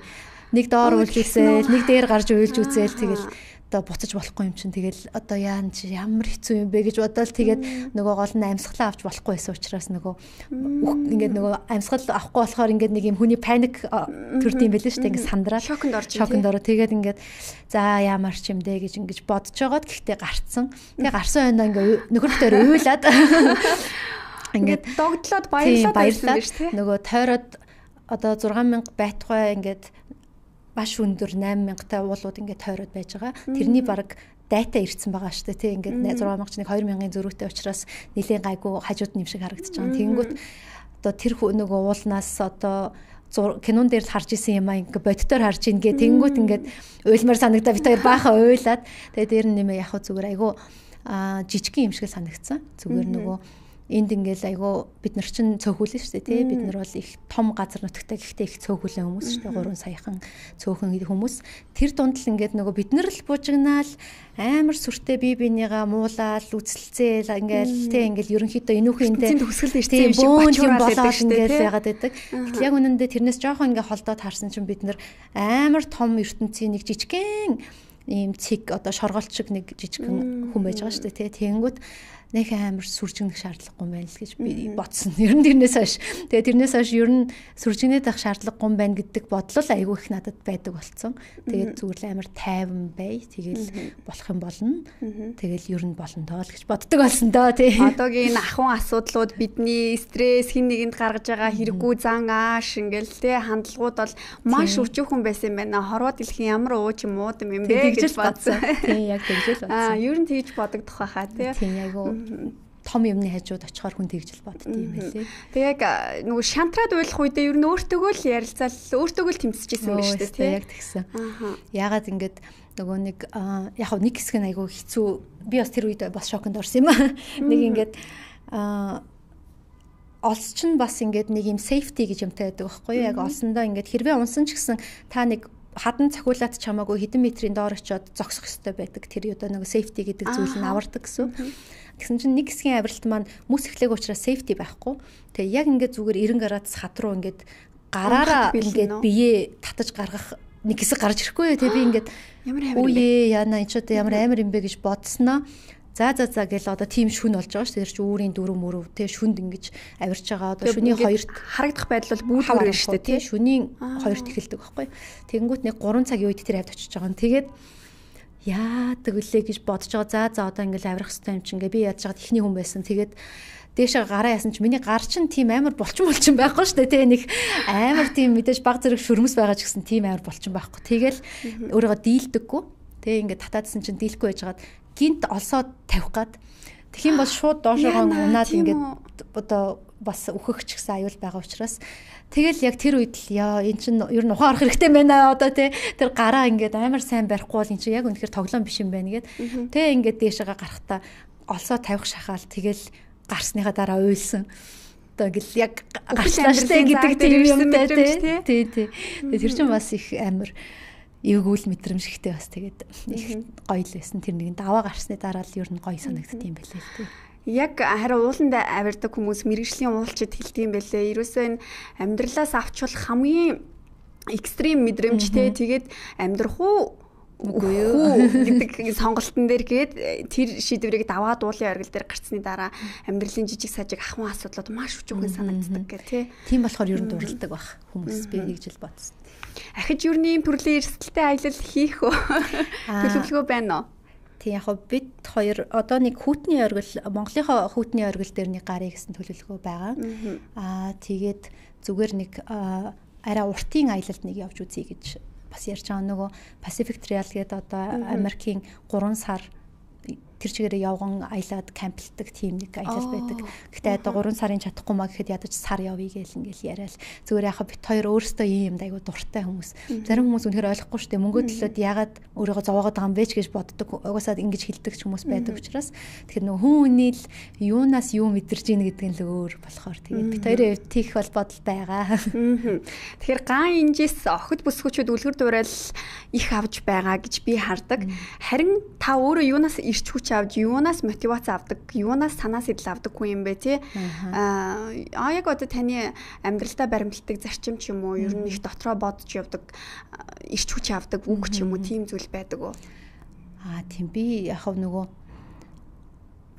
нэг доор уйлж үзээл, нэг дээр гарч уйлж үзээл тэгэл одоо буцаж болохгүй юм чинь тэгэл одоо яан чи ямар хэцүү юм бэ гэж бодоод тэгээд нөгөө гол нь амьсгалаа авч болохгүй байсан учраас нөгөө ингээд нөгөө амьсгал авахгүй болохоор ингээд нэг юм хүний паник төрдөйм байлээ шүү дээ. Ингээд сандраад шоконд ороо тэгээд ингээд за ямар ч юм дээ гэж ингэж бодож байгаад гэхдээ гарцсан. Тэгээ гарсан байндаа ингээд нөхөртөө уйлаад ингээд догдлоод баярлаад нөгөө тойроод одоо 6000 байтугай ингээд маш өндөр 8000-тай уулууд ингээд тойроод байж байгаа. Тэрний баг дата ирсэн байгаа шүү дээ. Тэ ингээд 6000 ч нэг 2000-ын зөрүүтэй учраас нэлийн гайгүй хажууд нь юм шиг харагдаж байгаа. Тэгэнгүүт одоо тэр нөгөө уулнаас одоо кинон дээр харж исэн юм аа ингээд бодитоор харж ийн гэ тэгэнгүүт ингээд уйлмар санагдаа бит хоёр баахан уйлаад тэгээ дээр нь нэмээ яг зүгээр айгүй жижигхэн юм шиг санагдсан. Зүгээр нөгөө энд ингээл айгүй бид нар чинь цөөхүүлэн шүү дээ тий. Бид нар бол их том газар нутагтай гэхдээ их цөөхүүлэн хүмүүс шүү дээ. 3 саяхан цөөхөн хүмүүс. Тэр дунд л ингээд нөгөө бид нар л бужигнаал амар сүртэй бие бинийгаа муулаад үцэлцээл ингээл тий ингээл ерөнхийдөө энүүхэндээ төгсгөл дээ шүү дээ. Бөөн болоод ингээл байгаад байдаг. Гэтэл яг үнэндээ тэрнээс жоохон ингээ холдоод харсан чинь бид нар амар том ертөнцийн нэг жижигхэн ийм цэг одоо шоргоолт шиг нэг жижигхэн хүн байж байгаа шүү дээ тий. Тэгэнгүүт нэг амар сүржигнэх шаардлагагүй юм байна л гэж би бодсон. Ер нь тэрнээс хойш. Тэгээ тэрнээс хойш ер нь сүржигнээд байх шаардлагагүй юм байна гэдэг бодлол айгүй их надад байдаг болсон. Тэгээд зүгээр л амар тайван бай. Тэгэл болох юм болно. Тэгэл ер нь болно доо л гэж боддог болсон доо тий. Одоогийн ахуйн асуудлууд бидний стресс хин нэгэнд гаргаж байгаа хэрэггүй зан ааш ингээл тий хандлагууд бол маш өчүүхэн байсан юм байна. Хорвоо дэлхийн ямар ууч юм уу юм бэ гэж бодсон. Тий яг тэгж л бодсон. Ер нь тэгж бодогдох байхаа тий. Тий айгүй том юмны хажууд очихоор хүн тэгжэл бодд юм байлээ. Тэг яг нөгөө шантраад уйлах үедээ ер нь өөртөөгөө л ярилцаал өөртөөгөө л тэмцэжсэн байх шүү дээ тий. Яг тэгсэн. Яагаад ингэж нөгөө нэг яг нэг хэсэг нь айгүй хэцүү. Би бас тэр үед бас шоконд орсон юм аа. Нэг ингэж олс чинь бас ингэж нэг юм safety гэж юмтай байдаг байхгүй юу? Яг олсондоо ингэж хэрвээ унсан ч гэсэн та нэг хадан цахиулаад чамаагүй хэдэн метрийн доор очиод зогсох ёстой байдаг. Тэр одоо нэг safety гэдэг зүйл нь авардаг гэсэн. Тэгсэн чинь нэг хэсгийн авиралт маань мөс эхлэх учраас safety байхгүй. Тэгээ яг ингээд зүгээр 90 градус хад руу ингээд гараараа ингээд бие татаж гаргах нэг хэсэг гарч ирэхгүй. Тэгээ би ингээд үе яана энэ ч одоо ямар амар юм бэ гэж бодсноо. За гэл одоо тийм шүн болж байгаа шүү. Тэр чинь үүрийн дөрөв мөрөв те шүнд ингэж авирч байгаа. Одоо шүний хоёрт харагдах байдал бол бүүлгүүр шүү дээ те. Шүний хоёрт эхэлдэг байхгүй. Тэгэнгүүт нэг 3 цагийн үед тэр авд очиж байгаа. Тэгээд яадаг үлээ гэж бодож байгаа. За одоо ингээл авирах хэрэгтэй юм чинь ингээ би яаж чад ихний хүн байсан. Тэгээд дээшээ гараа ясан чи миний гар чинь тийм амар булчин байхгүй шүү дээ. Нэг амар тийм мэдээж баг зэрэг шүрмэс байгаа ч гэсэн тийм амар булчин байхгүй. Тэгэл өөрийгөө дийлдэггүй. Тэгээ ингээ татаадсан чинь дийлэхгүй байжгаад гинт олсоод тавих гад. Тэгхийн бол шууд доошоогоо унаад ингээд одоо бас өөхөх ч гэсэн аюул байгаа учраас тэгэл яг тэр үед л яа эн чинь ер нь ухаан орох хэрэгтэй байна одоо тий тэр гараа ингээд амар сайн барихгүй бол эн чинь яг үнэхээр тоглоом биш юм байна гэд тий ингээд дээшээгээ гарахтаа олсоо тавих шахаал тэгэл гарсныхаа дараа уйлсан одоо гэл яг гарчлаа штэ гэдэг тийм юмтай тий тэр чинь бас их амар эвгүүл мэдрэмжтэй бас тэгээд их гоё л байсан. Тэр нэгэн даваа гарсны дараа л ер нь гоё санагддаг юм байлээ л тий. Яг харин ууланд авирдаг хүмүүс мэрэгжлийн уулчид хэлдэг юм байлээ. Ерөөсөө энэ амьдралаас авчвал хамгийн экстрим мэдрэмжтэй тэгээд амьдрах уу үгүй юу гэдэг сонголтын дээр гээд тэр шийдвэрийг даваа дуулын оргил дээр гарцсны дараа амьдралын жижиг сажиг ахуйн асуудлууд маш өчүүхэн санагддаг гэх тий. Тийм болохоор ер нь дурладаг баг хүмүүс би нэг жил бодсон. Ахиж юрны төрлийн эрсдэлтэй аялал хийх үү? Төлөвлөгөө байна уу? Тий яг бид хоёр одоо нэг хүүтний оргил Монголынхоо хүүтний оргил дээр нэг гарыг гэсэн төлөвлөгөө байгаа. Тэгээд зүгээр нэг арай уртын аялалд нэг явж үзье гэж бас ярьж байгаа. Нөгөө Pacific Trail гэдэг одоо Америкийн 3 сар тэр чигээрээ явган аялаад камплдаг тийм нэг аялал байдаг. Гэхдээ одоо 3 сарын чадахгүй маа гэхэд ядаж сар явъя гээл ингээл яриад зүгээр яхаа бит хоёр өөрөөсөө ийм юм айгу дуртай хүмүүс. Зарим хүмүүс үнэхээр ойлгохгүй шүү дээ. Мөнгө төлөөд ягаад өөрийгөө зовоогоод байгаа юм бэ ч гэж боддог. Угаасаа ингэж хэлдэг ч хүмүүс байдаг учраас тэгэхээр нөгөө хүн үний л юунаас юу мэдэрч ийн гэдэг нь л өөр болохоор тэгээд бит хоёрын хувьд тийх бол бодолтой байгаа. Тэгэхээр ган инжээс охид бүсгүүчүүд үлгэр дуурайл их авж байгаа гэж би хардаг. Харин та өөрөө юунаас ирч хүч авч юунаас мотивац авдаг, юунаас санаа сэтэл авдаг хүн юм бэ тий? Яг одоо таны амьдралдаа баримтлагдаг зарчим ч юм уу, ер нь их дотроо бодож явдаг, ирч хүч авдаг үг ч юм уу, тийм зүйл байдаг уу? Тийм би яг нөгөө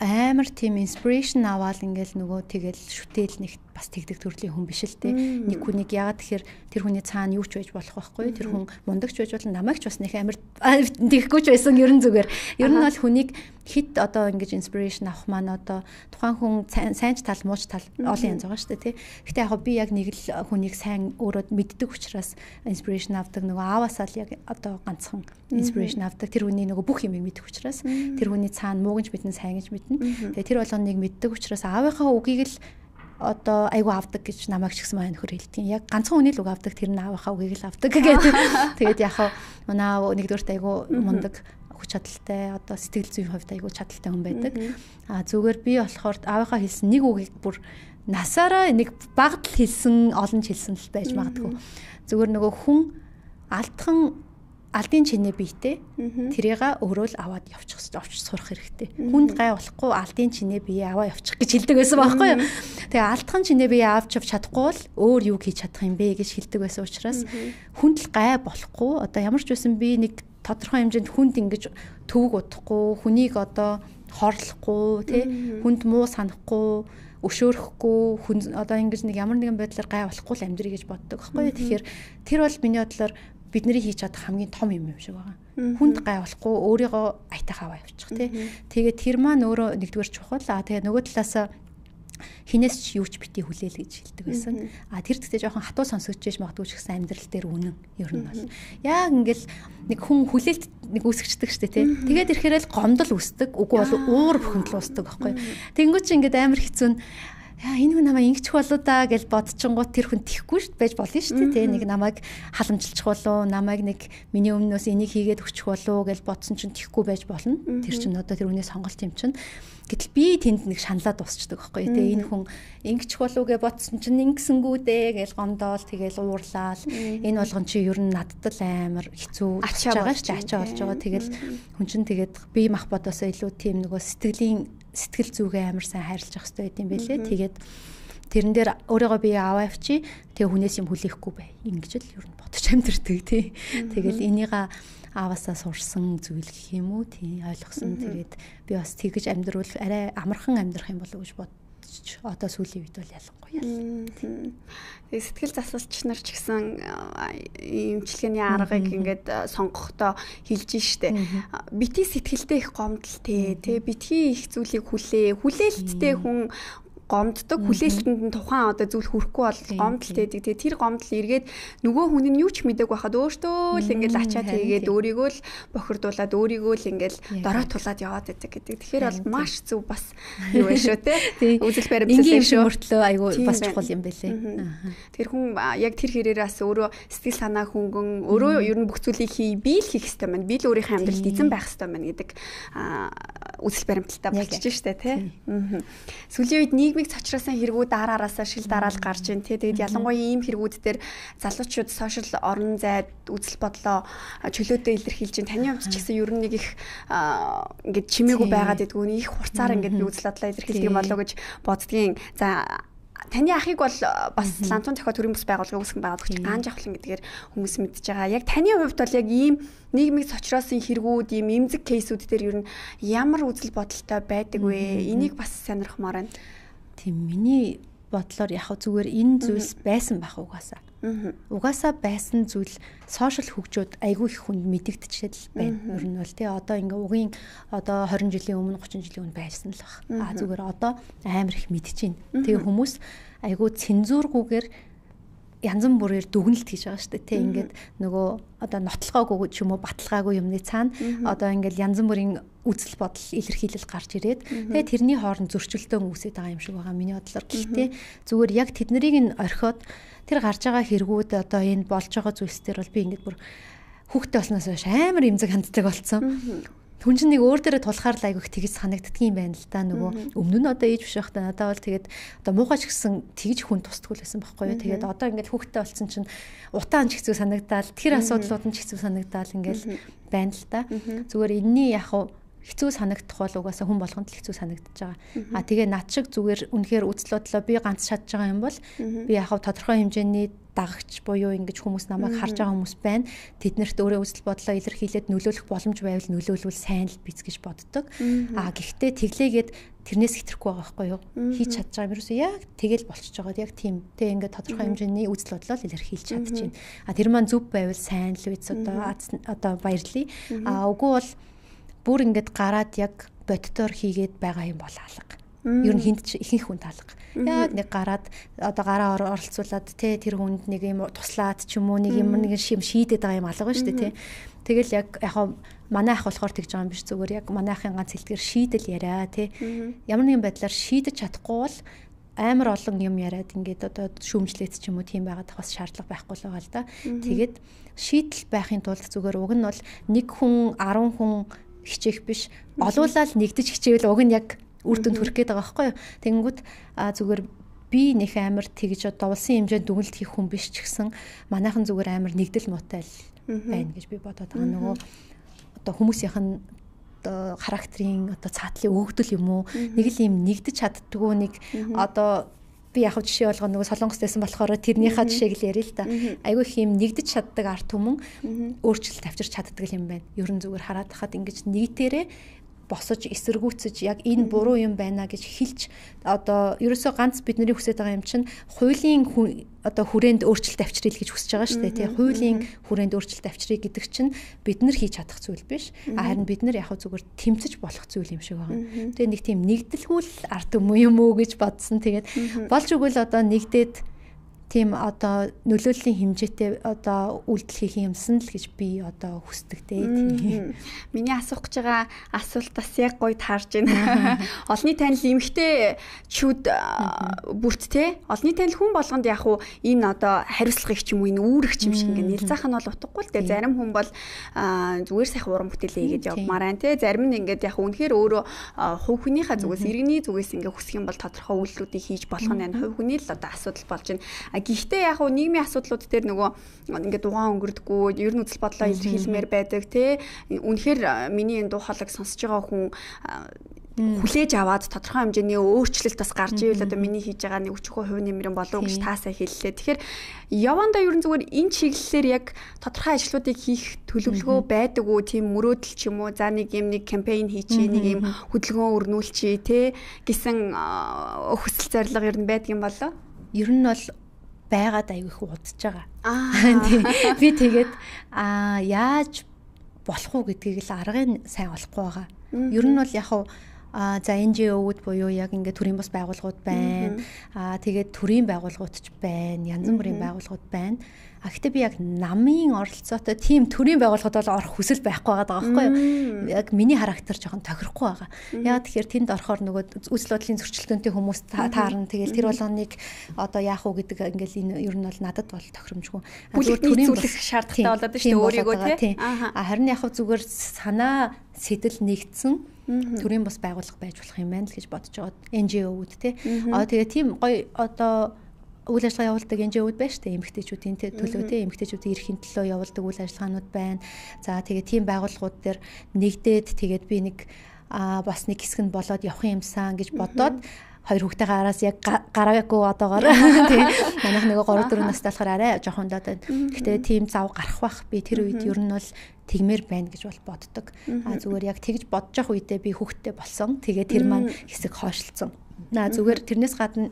амар тийм inspiration аваад ингээл нөгөө тэгэл шүтэл нэг бас тэгдэг төрлийн хүн биш л те. Нэг хүнийг яагаад тэгэхээр тэр хүний цаана юу ч байж болох байхгүй. Тэр хүн мундагч байж болно, намайг ч бас нэг амар тэгхгүй ч байсан ер нь зүгээр. Ер нь бол хүнийг хит одоо ингэж inspiration авах маань одоо тухайн хүн сайн ч тал мууч тал олон янз байгаа шүү дээ тий. Гэтэ яг би яг нэг л хүнийг сайн өөрөө мэддэг учраас inspiration авдаг. Нөгөө ааваасаа л яг одоо ганцхан inspiration авдаг. Тэр хүний нөгөө бүх юмыг мэддэг учраас тэр хүний цаана муугч мэднэ, сайн гэж мэднэ. Тэгээ тэр болгоныг мэддэг учраас аавынхаа үгийг л одоо айгу авдаг гэж намайг ч гэсэн маань нөхөр хэлдэг. Яг ганцхан хүний л үг авдаг, тэр нь аавынхаа үгийг л авдаг гэдэг. Тэгээд яг манай нэгдүгээрт айгу мундаг хүч чадалтай, одоо сэтгэл зүйн хувьд айгу чадалтай хүн байдаг. Зүгээр би болохоор аавынхаа хэлсэн нэг үгийг бүр насаараа нэг багт л хэлсэн, олон ч хэлсэн л байж магадгүй. Зүгээр нөгөө хүн алдын чинээ биетэй тэрийг өөрөө л аваад явчих сурах хэрэгтэй. Хүнд гай болохгүй алдын чинээ бие аваа явчих гэж хэлдэг байсан байхгүй юу? Тэгээ алдхан чинээ бие авч чадахгүй бол өөр юу хийж чадах юм бэ гэж хэлдэг байсан учраас хүнд л гай болохгүй. Одоо ямар ч байсан би нэг тодорхой хэмжээнд хүнд ингэж төвөг удахгүй, хүнийг одоо хорлохгүй, тий хүнд муу санахгүй, өшөөрөхгүй, хүн одоо ингэж нэг ямар нэгэн байдлаар гай болохгүй л амьдрий гэж боддог байхгүй юу. Тэгэхээр тэр бол миний бодлоор бидний хийж чадах хамгийн том юм шиг байгаа. Хүнд гай болохгүй өөрийгөө аятайх аваа явчих тий. Тэгээд тэр маань өөрөө нэгдүгээр чухал. Тэгээд нөгөө талаасаа хинээс ч юу ч бити хүлээл гэж хэлдэг байсан. Тэр тэгтээ жоохон хатуу сонсогдож иж магадгүй ч гэсэн амьдрал дээр үнэн ер нь бол. Яг ингээл нэг хүн хүлээлт нэг үүсгэждэг штэ тий. Тэгээд ирэхээр л гомдол үүсдэг. Үгүй бол уур бухимдал үүсдэг байхгүй. Тэнгүүч ингээд амар хэцүү нь энэ хүн намайг ингэчих болоо да гэж бодчихгонгууд тэр хүн тихгүй шүү байж болно шүү дээ. Нэг намайг халамжилчих болоо, намайг нэг миний өмнөөс энийг хийгээд өгчих болоо гэж бодсон чинь тихгүй байж болно. Тэр чинь одоо тэр хүний сонголт юм чинь. Гэтэл би тэнд нэг шаналаад дуусчдаг байхгүй. Тэгээ энэ хүн ингэчих болоо гэж бодсон чинь ингэсэнгүү дээ гэж гомдоол тэгээл уурлаал. Энэ болгон чи ер нь надад л амар хэцүү болж байгаа шүү дээ. Ачаа болж байгаа. Тэгэл хүн чинь тэгээд би мах бодосоо илүү тийм нөгөө сэтгэл зүгээ амар сайн хайрлаж ах хэрэгтэй байт юм бэлээ. Тэгээд тэрэн дээр өөрийгөө би аваа авчи. Тэгээ хүнээс юм хүлээхгүй бай. Ингэж л ер нь бодож амьдэрдэг тий. Тэгэл энийга ааваасаа сурсан зүйл гэх юм уу тий ойлгосон. Тэгээд би бас тэгж амьдрал арай амархан амьдрах юм болов уу гэж бодож одоо сүүлийн үед бол ялангуяа. Тэгээд сэтгэл засалч нар ч гэсэн эмчилгээний аргыг ингээд сонгохдоо хэлж штэ. Бити сэтгэлдээ их гомдолтой тий битгий их зүйлийг хүлээлттэй хүн гомддог хүлээлтэнд нь тухайн одоо зүйл хүрэхгүй бол гомдолтой байдаг. Тэгээ тэр гомдол эргээд нөгөө хүн нь юу ч мэдээг байхад өөртөө л ингээд ачаа тэгээд өөрийгөө л бохирдуулаад өөрийгөө л ингээд дорой тулаад яваад байдаг гэдэг. Тэгэхээр бол маш зөв бас юу вэ шүү те. Үзэл баримтлал юм шүү. Өөртлөө айгүй бас чухал юм байлээ. Тэр хүн яг тэр хэрээрээс өөрөө сэтгэл санаа хөнгөн өөрөө ер нь бүх зүйлийг хий би л хийх хэрэгтэй маань. Би л өөрийнхөө амьдралд эзэн байх хэрэгтэй маань гэдэг үзэл баримталтай болчихж штэ те. Сүүлийн үед нийгмийн цочроосон хэрэгүүд дараараасаа шил дараал гарч ийн тий. Тэгээд ялангуяа ийм хэрэгүүд дээр залуучууд сошиал орон зайд үзэл бодлоо чөлөөтэй илэрхийлж ин таны хувьд ч гэсэн ер нь нэг их ингээд чимээгүй байгаад идэггүй их хурцаар ингээд би үзэл бодлоо илэрхийлдэг юм болоо гэж боддгийн. За таны ахыг бол бас лантун зохио төрийн бүс байгууллагын үүсгэн байгаад өгч гаан жавхлан гэдгээр хүмүүс мэдж байгаа. Яг таны хувьд бол яг ийм нийгмийн цочроосон хэрэгүүд, ийм эмзэг кейсүүд дээр ер нь ямар үзэл бодолтой байдаг вэ? Энийг бас сонирхмоор байна. Тийм миний бодлоор яг зүгээр энэ зүйлс байсан байх угаасаа. Угаасаа байсан зүйл сошиал хөгжөөд айгүй их хүнд мэдэгдчихэл байна. Ер нь бол тий одоо ингээ угийн одоо 20 жилийн өмнө 30 жилийн өмнө байсан л баг. Зүгээр одоо амар их мэдчихээн. Тэгээ хүмүүс айгүй цензуургүйгээр янз бүрээр дүгнэлт хийж байгаа шүү дээ. Тэ ингээд нөгөө одоо нотлогоогүй ч юм уу баталгаагүй юмны цаана одоо ингээд янз бүрийн үзэл бодол илэрхийлэл гарч ирээд тэгээ тэрний хооронд зөрчилдөөн үүсэж байгаа юм шиг байгаа миний бодлоор. Гэхдээ зүгээр яг тэднийг нь орхиод тэр гарч байгаа хэрэгүүд одоо энэ болж байгаа зүйлс төр бол би ингээд бүр хүүхдтэй болсноос хойш амар эмзэг ханддаг болсон. Хүн чинь нэг өөр дээрээ тулахаар л айгүйх тэгж санагддаг юм байна л да. Нөгөө өмнө нь одоо ээж биш байхдаа надад бол тэгээд одоо муухайч гэсэн тэгж хүн тусдаггүй л байсан байхгүй юу. Тэгээд одоо ингээд хүүхдтэй болсон чинь утаан ч хэцүү санагдаал тэр асуудлууд нь ч хэцүү санагдаал ингээл байна л да. Зүгээр энэний яг хэцүү санагдах бол угаасаа хүн болгонд л хэцүү санагдаж байгаа. Тэгээ над шиг зүгээр үнэхээр үзлөдлөө би ганц чадж байгаа юм бол би яг тодорхой хэмжээний дагагч буюу ингэж хүмүүс намайг харж байгаа хүмүүс байна. Тэднэрт өөрөө үзэл бодлоо илэрхийлээд нөлөөлөх боломж байвал нөлөөлвөл сайн л биз гэж боддог. Гэхдээ тэглээгээд тэрнээс хэтрэхгүй байгаа байхгүй юу? Хийж чадж байгаа юм ерөөсөө яг тэгэл болчихж байгаа. Яг тийм. Тэ ингээд тодорхой хэмжээний үзэл бодлоо илэрхийлж чадчихээн. Тэр маань зөв байвал сайн л биз одоо баярлая. Үгүй бол бүр ингээд гараад яг бодтоор хийгээд байгаа юм бол алга. Ер нь хинт ихэнх хүн алга. Яг нэг гараад одоо гараа оролцуулаад тэ тэр хүнд нэг юм туслаад ч юм уу нэг юм нэг шим шийдээд байгаа юм алга байна шүү дээ тэ. Тэгэл яг манай ах болохоор тэгж байгаа юм биш зүгээр яг манай ахын ганц хэлдгээр шийдэл яриа тэ. Ямар нэгэн байдлаар шийдэж чадахгүй бол амар олон юм яриад ингээд одоо шүүмжлээд ч юм уу тийм байгаад бас шаардлага байхгүй л байгаа л да. Тэгээд шийдэл байхын тулд зүгээр уг нь бол нэг хүн 10 хүн хичээх биш олуулаад нэгдэж хичээвэл уг нь яг үр дүнд хүрэх гээд байгаа байхгүй юу. Тэнгүүд зүгээр би нэх амар тэгж дуулсан хэмжээнд дүгнэлт хийх хүн биш ч гэсэн манайхан зүгээр амар нэгдэл муутай байна гэж би бодоод байгаа. Нөгөө одоо хүмүүсийнх нь одоо характерын одоо цаатлын өгдөл юм уу нэг л юм нэгдэж чаддгүй нэг одоо би яг жишээ болгоно нөгөө Солонгост байсан болохоор тэрнийхээ жишээг л ярил л да. Айгүй их юм нэгдэж чаддаг арт түмэн өөрчлөлт авчирч чаддаг юм байна. Ер нь зүгээр хараад хахад ингэж нэгтээрээ босож эсэргүүцэж яг энэ буруу юм байна гэж хэлж одоо ерөөсөө ганц бидний хүсэж байгаа юм чинь хуулийн одоо хүрээнд өөрчлөлт авчрыг гэж хүсэж байгаа шүү дээ тий. Хуулийн хүрээнд өөрчлөлт авчрыг гэдэг чинь бид нар хийж чадах зүйл биш. Харин бид нар яг зүгээр тэмцэж болох зүйл юм шиг байгаа. Тэгээ нэг тийм нэгдэлхүүл арт юм уу гэж бодсон. Тэгээд болж өгвөл одоо нэгдээд тийм одоо нөлөөллийн хэмжээтэй одоо үйлдэл хийх юмсан л гэж би одоо хүсдэг дээ. Миний асуух гэж байгаа асуултаас яг гоё таарж байна. Олонний танил эмэгтэй чүүд бүрт те олонний танил хүн болгонд яг уу энэ одоо хариуцлагыг ч юм уу энэ үүрэг ч юм шиг ингээ нэлзаах нь бол утгагүй л те. Зарим хүн бол зүгээр сайхан уран бүтээлээ хийгээд явмаар байна те. Зарим нь ингээд яг үнэхээр өөрөө хувь хүнийхээ зүгээс иргэний зүгээс ингээ хүсэх юм бол тодорхой үйлдэлүүдийг хийж болох нь байна. Хувь хүний л одоо асуудал болж байна. Гэхдээ яг нь нийгмийн асуудлууд дээр нөгөө ингээд дугаан өнгөрдөггүй, ер нь үзэл бодлоо илэрхийлмээр байдаг те. Үнэхээр миний энэ дуу хоолойг сонсож байгаа хүн хүлээж аваад тодорхой хэмжээний өөрчлөлт бас гарч ивэл одоо миний хийж байгаа нэг өчигөө хувь нэмрэн болов гэж таасаа хэллээ. Тэгэхээр явандаа ер нь зүгээр энэ чиглэлээр яг тодорхой ажлуудыг хийх төлөвлөгөө байдаг уу? Тийм мөрөөдөл ч юм уу? За нэг юм нэг кампайн хийчихээ, нэг юм хөдөлгөөн өрнүүлчихье те гэсэн хүсэл зорилго ер нь байдаг юм болоо? Ер нь бол байгаад аягүй их удаж байгаа. Би тэгээд яаж болох уу гэдгийг л аргыг сайн олохгүй байгаа. Ер нь бол яг за NGO-уд буюу яг ингээд төрийн бас байгууллагууд байна. Тэгээд төрийн байгууллагууд ч байна. Янз бүрийн байгууллагууд байна. Гэхдээ би яг намын оролцоотой тийм төрийн байгууллагад бол орох хүсэл байхгүй байгаа байхгүй юу? Яг миний характер жоохон тохирохгүй байгаа. Яг тэгэхээр тэнд орохоор нөгөө үзэл бодлын зөрчилдөөнтэй хүмүүс таарна. Тэгэл тэр болгоныг одоо яах уу гэдэг ингээл энэ ер нь бол надад бол тохиромжгүй. Төрийн зүйлэх шаардлагатай болоод шүү дээ өөрийгөө тий. Харин яг зүгээр санаа сэтэл нэгдсэн төрийн бас байгууллага байж болох юм байна л гэж бодож байгаа. NGO-уд тий. Тэгээ тийм гоё одоо үйл ажиллагаа явуулдаг NGO-уд байна шүү дээ. Эмэгтэйчүүдийн төлөө тий эмэгтэйчүүдийн эрхийн төлөө явуулдаг үйл ажиллагаанууд байна. За тэгээ тийм байгууллагууд дээр нэгдээд тэгээд би нэг бас нэг хэсэг нь болоод явах юмсан гэж бодоод хоёр хүүхдийн араас яг гараагүй одоогоор тий манайх нөгөө 3 4 настай болохоор арай жоохон доод байна. Гэхдээ тийм зав гарах бах би тэр үед ер нь бол тэгмээр байна гэж бол боддог. Зүгээр яг тэгж бодож явах үедээ би хүүхдтэй болсон. Тэгээ тэр маань хэсэг хойшлцсон. Зүгээр тэрнээс гадна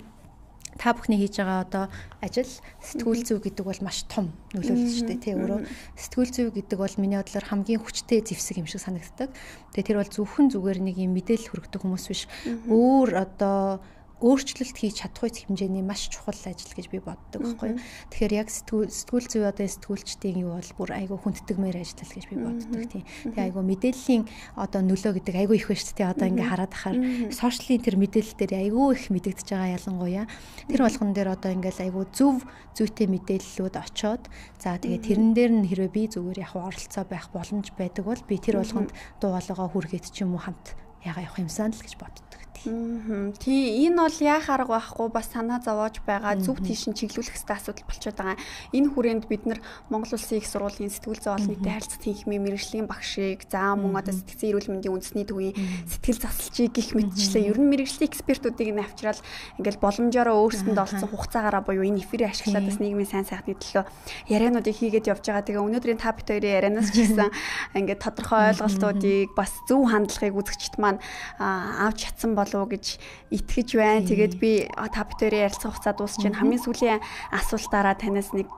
та бүхний хийж байгаа одоо ажил сэтгүүл зүй гэдэг бол маш том нөлөөлөл шүү дээ тий өөрөө сэтгүүл зүй гэдэг бол миний бодлоор хамгийн хүчтэй зэвсэг юм шиг санагддаг. Тэгээ тэр бол зөвхөн зүгээр нэг юм мэдээлэл хүргэдэг хүмүүс биш. Өөр одоо өөрчлөлт хийж чадах хэмжээний маш чухал ажил гэж би боддог байхгүй юу. Тэгэхээр яг сэтгүүл зүй одоо сэтгүүлчдийн юу бол бүр айгүй хүндэтгмээр ажиллал гэж би боддог тийм. Тэгээ айгүй мэдээллийн одоо нөлөө гэдэг айгүй их байна шүү дээ. Одоо ингээ хараад ахаар сошиалын тэр мэдээлэл дээр айгүй их мэдэгдэж байгаа ялангуяа. Тэр болгон дээр одоо ингээл айгүй зөв зүйтэй мэдээллүүд очоод за тэгээ тэрэн дээр нь хэрвээ би зүгээр яг оролцоо байх боломж байдаг бол би тэр болгонд дуу хоолойгоо хүргээд ч юм уу хамт яга явах юмсан л гэж боддог. Тий, энэ бол яах арга байхгүй бас санаа зовоож байгаа зөв тийшин чиглүүлэх хэвээр асуудал болчиход байгаа. Энэ хүрээнд бид нар Монгол Улсын их сургуулийн сэтгүүл зүйн олон нийтийн харилцаа тэнхимийн мэргэжлийн багшийг за мөн одоо сэтгцэн эрүүл мэндийн үндэсний төвийн сэтгэл засалчийг гих мэтчлээ ер нь мэргэжлийн экспертүүдийг нь авчраад ингээл боломжоор өөрсдөнд олцсон хугацаагаараа буюу энэ эфирийг ашиглаад бас нийгмийн сайн сайхны төлөө яриануудыг хийгээд явж байгаа. Тэгээ өнөөдрийн та бит хоёрын ярианаас ч гэсэн ингээд тодорхой ойлголтуудыг бас зөв хандлагыг үзэгчд маань авч чадсан болов гэж итгэж байна. Тэгээд би та битэрийн ярилцах хугацаа дуусч байна. Хамгийн сүүлийн асуултаараа танаас нэг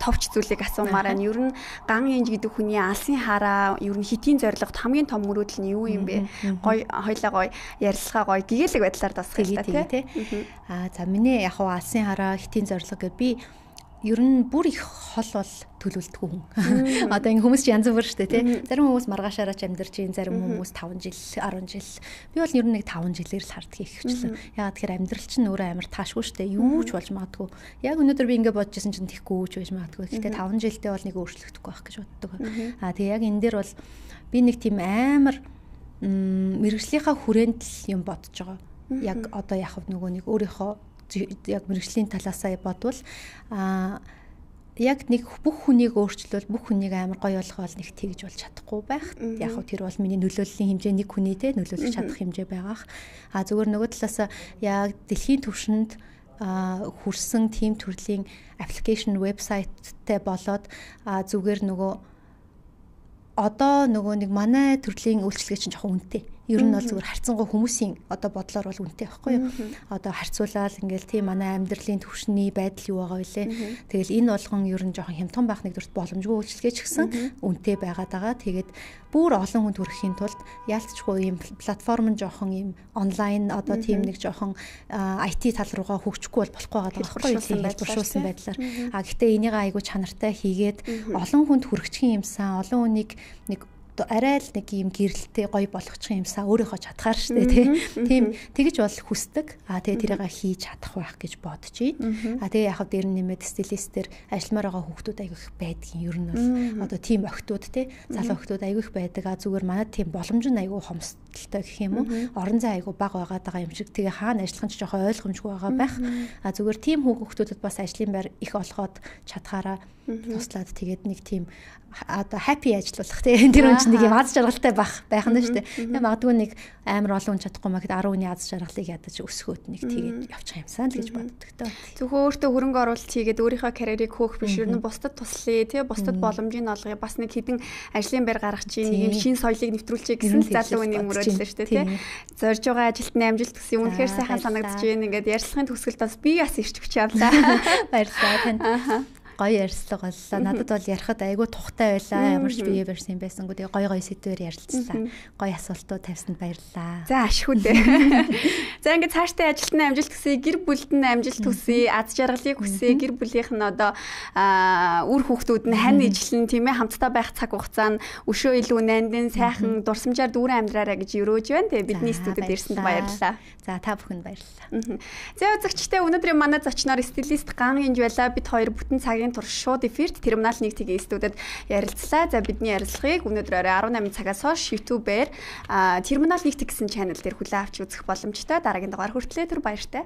товч зүйлийг асуумаар байна. Ер нь Ган Янж гэдэг хүний алсын хараа ер нь хитийн зорилгот хамгийн том мөрөөдөл нь юу юм бэ? Гой хоёлаа гой ярилцлага гой гэгээлэг байдлаар дасгах тий. За миний яг алсын хараа хитийн зорилго гэвэл би ер нь бүр их хол бол төлөвлөлтгүй хүн. Одоо ингэ хүмүүс ч янз бүр шүү дээ тий. Зарим хүмүүс маргаашаараа ч амьдарч ийн, зарим хүмүүс 5 жил, 10 жил. Би бол ер нь нэг 5 жилээр л харддаг ихвчлэн. Яагаад тэгэхээр амьдрал чинь өөрөө амар таашгүй шүү дээ. Юу ч болж магадгүй. Яг өнөөдөр би ингэ бодож байсан чинь тэхгүй ч байж магадгүй. Гэхдээ 5 жилдээ бол нэг өөрчлөгдөхгүй байх гэж боддог. Тэгээ яг энэ дээр бол би нэг тийм амар мэргэжлийнхаа хүрээнд л юм бодож байгаа. Яг одоо яг нөгөө нэг өөрийнхөө яг мэргэжлийн талаасаа бодвол яг нэг бүх хүнийг өөрчлөл бүх хүнийг амар гоё болгоол нэг тэгж болж чадахгүй байх. Яг хөө тэр бол миний нөлөөллийн хэмжээ нэг хүнийтэй нөлөөлж чадах хэмжээ байгаах. Зүгээр нөгөө талаас яг дэлхийн түвшинд хүрсэн team төрлийн application website-тэй болоод зүгээр нөгөө одоо нөгөө нэг манай төрлийн үйлчлэгээ чинь жоохон үнэтэй. Ер нь бол зүгээр харьцангуй хүмүүсийн одоо бодлоор бол үнэтэй байхгүй юу? Одоо харьцуулаад ингээл тийм манай амьдралын төвшний байдал юу байгаа вэ? Тэгэл энэ болгон ер нь жоохон хямдхан байх нэгдүгürt боломжгүй үйлчлэгээ ч гэсэн үнэтэй байгаад байгаа. Тэгээд бүр олон хүнд хүрэхийн тулд яалтчгүй ийм платформ нь жоохон ийм онлайн одоо тийм нэг жоохон IT тал руугаа хөгжихгүй бол болохгүй байгаа байхгүй юу? Хэлбэршүүлсэн байдлаар. Гэхдээ энийг айгүй чанартай хийгээд олон хүнд хүрэгчийн юмсан, олон хүнийг нэг арай л нэг юм гэрэлтэй гоё болгочих юмсаа өөрийнхөө чадхаар штэ тийм тэгэж бол хүсдэг. Тэгээ тэрийгээ хийж чадах байх гэж бодож байна. Тэгээ яг дээр нэмээд стилистээр ажилламаар байгаа хүүхдүүд айгүй их байдгийн. Ер нь бол одоо тийм охтууд залуу охтууд айгүй их байдаг. Зүгээр манай тийм боломж нь айгүй хомсдолтой гэх юм уу. Орон зай айгүй бага байгаа юм шиг. Тэгээ хаана ажиллах нь ч жоохон ойлгомжгүй байгаа байх. Зүгээр тийм хүүхдүүдэд бас ажлын байр их олгоод чадхаараа туслаад тэгээд нэг тийм одоо happy ажиллах тийм тэр хүн чинь нэг юм аз жаргалтай байх нь шүү дээ. Тэгээ магадгүй нэг амар олон хүн чадахгүй маа гэд 10 хүний аз жаргалыг ядаж өсгөөд нэг тэгээд явчих юмсан л гэж боддог тоо. Зөвхөн өөртөө хөрөнгө оруулалт хийгээд өөрийнхөө карьерийг хөөх биш ер нь бусдад туслая тэгээ бусдад боломжийг олгоё бас нэг хідэн ажлын байр гаргах чинь нэг юм шин соёлыг нэвтрүүлчихье гэсэн залуу хүний мөрөөдөл шүү дээ тий. Зорж байгаа ажилд амжилт төсөө үнэхээр сайхан санагдаж байна. Ингээд ярьцлагын төгсгөлд бас би бас ирч өгч явлаа. Баярлалаа танд. Гоё ярьслага боллоо. Надад бол ярихад айгүй тухтай байлаа. Ямар ч бие барьсан байсангүй. Тэгээ гоё сэдвээр ярилцлаа. Гоё асуултууд тавьсанд баярлалаа. За ашгүй дээ. За ингээд цаашдаа ажилтны амжилт хүсье, гэр бүлд нь амжилт хүсье, аз жаргалыг хүсье, гэр бүлийнх нь одоо үр хүүхдүүд нь хань ижлэн тийм ээ хамтдаа байх цаг хугацаа нь өшөө илүү нандин сайхан дурсамжаар дүүрэн амьдраарай гэж өрөөж байна. Тэгээ бидний студид ирсэнд баярлалаа. За та бүхэнд баярлалаа. За үзэгчдээ өнөөдрийн манай зочноор стилист Ган Гинж байлаа. Бид хоёр бүтэн цагийн турш шууд эфирт Терминал 1 TG студид ярилцлаа. За бидний ярилцлагыг өнөөдөр орой 18 цагаас хойш YouTube-ээр Терминал 1 TG гэсэн channel дээр хүлээн авч үзэх боломжтой. Дараагийн дугаар хүртлээр түр баяртай.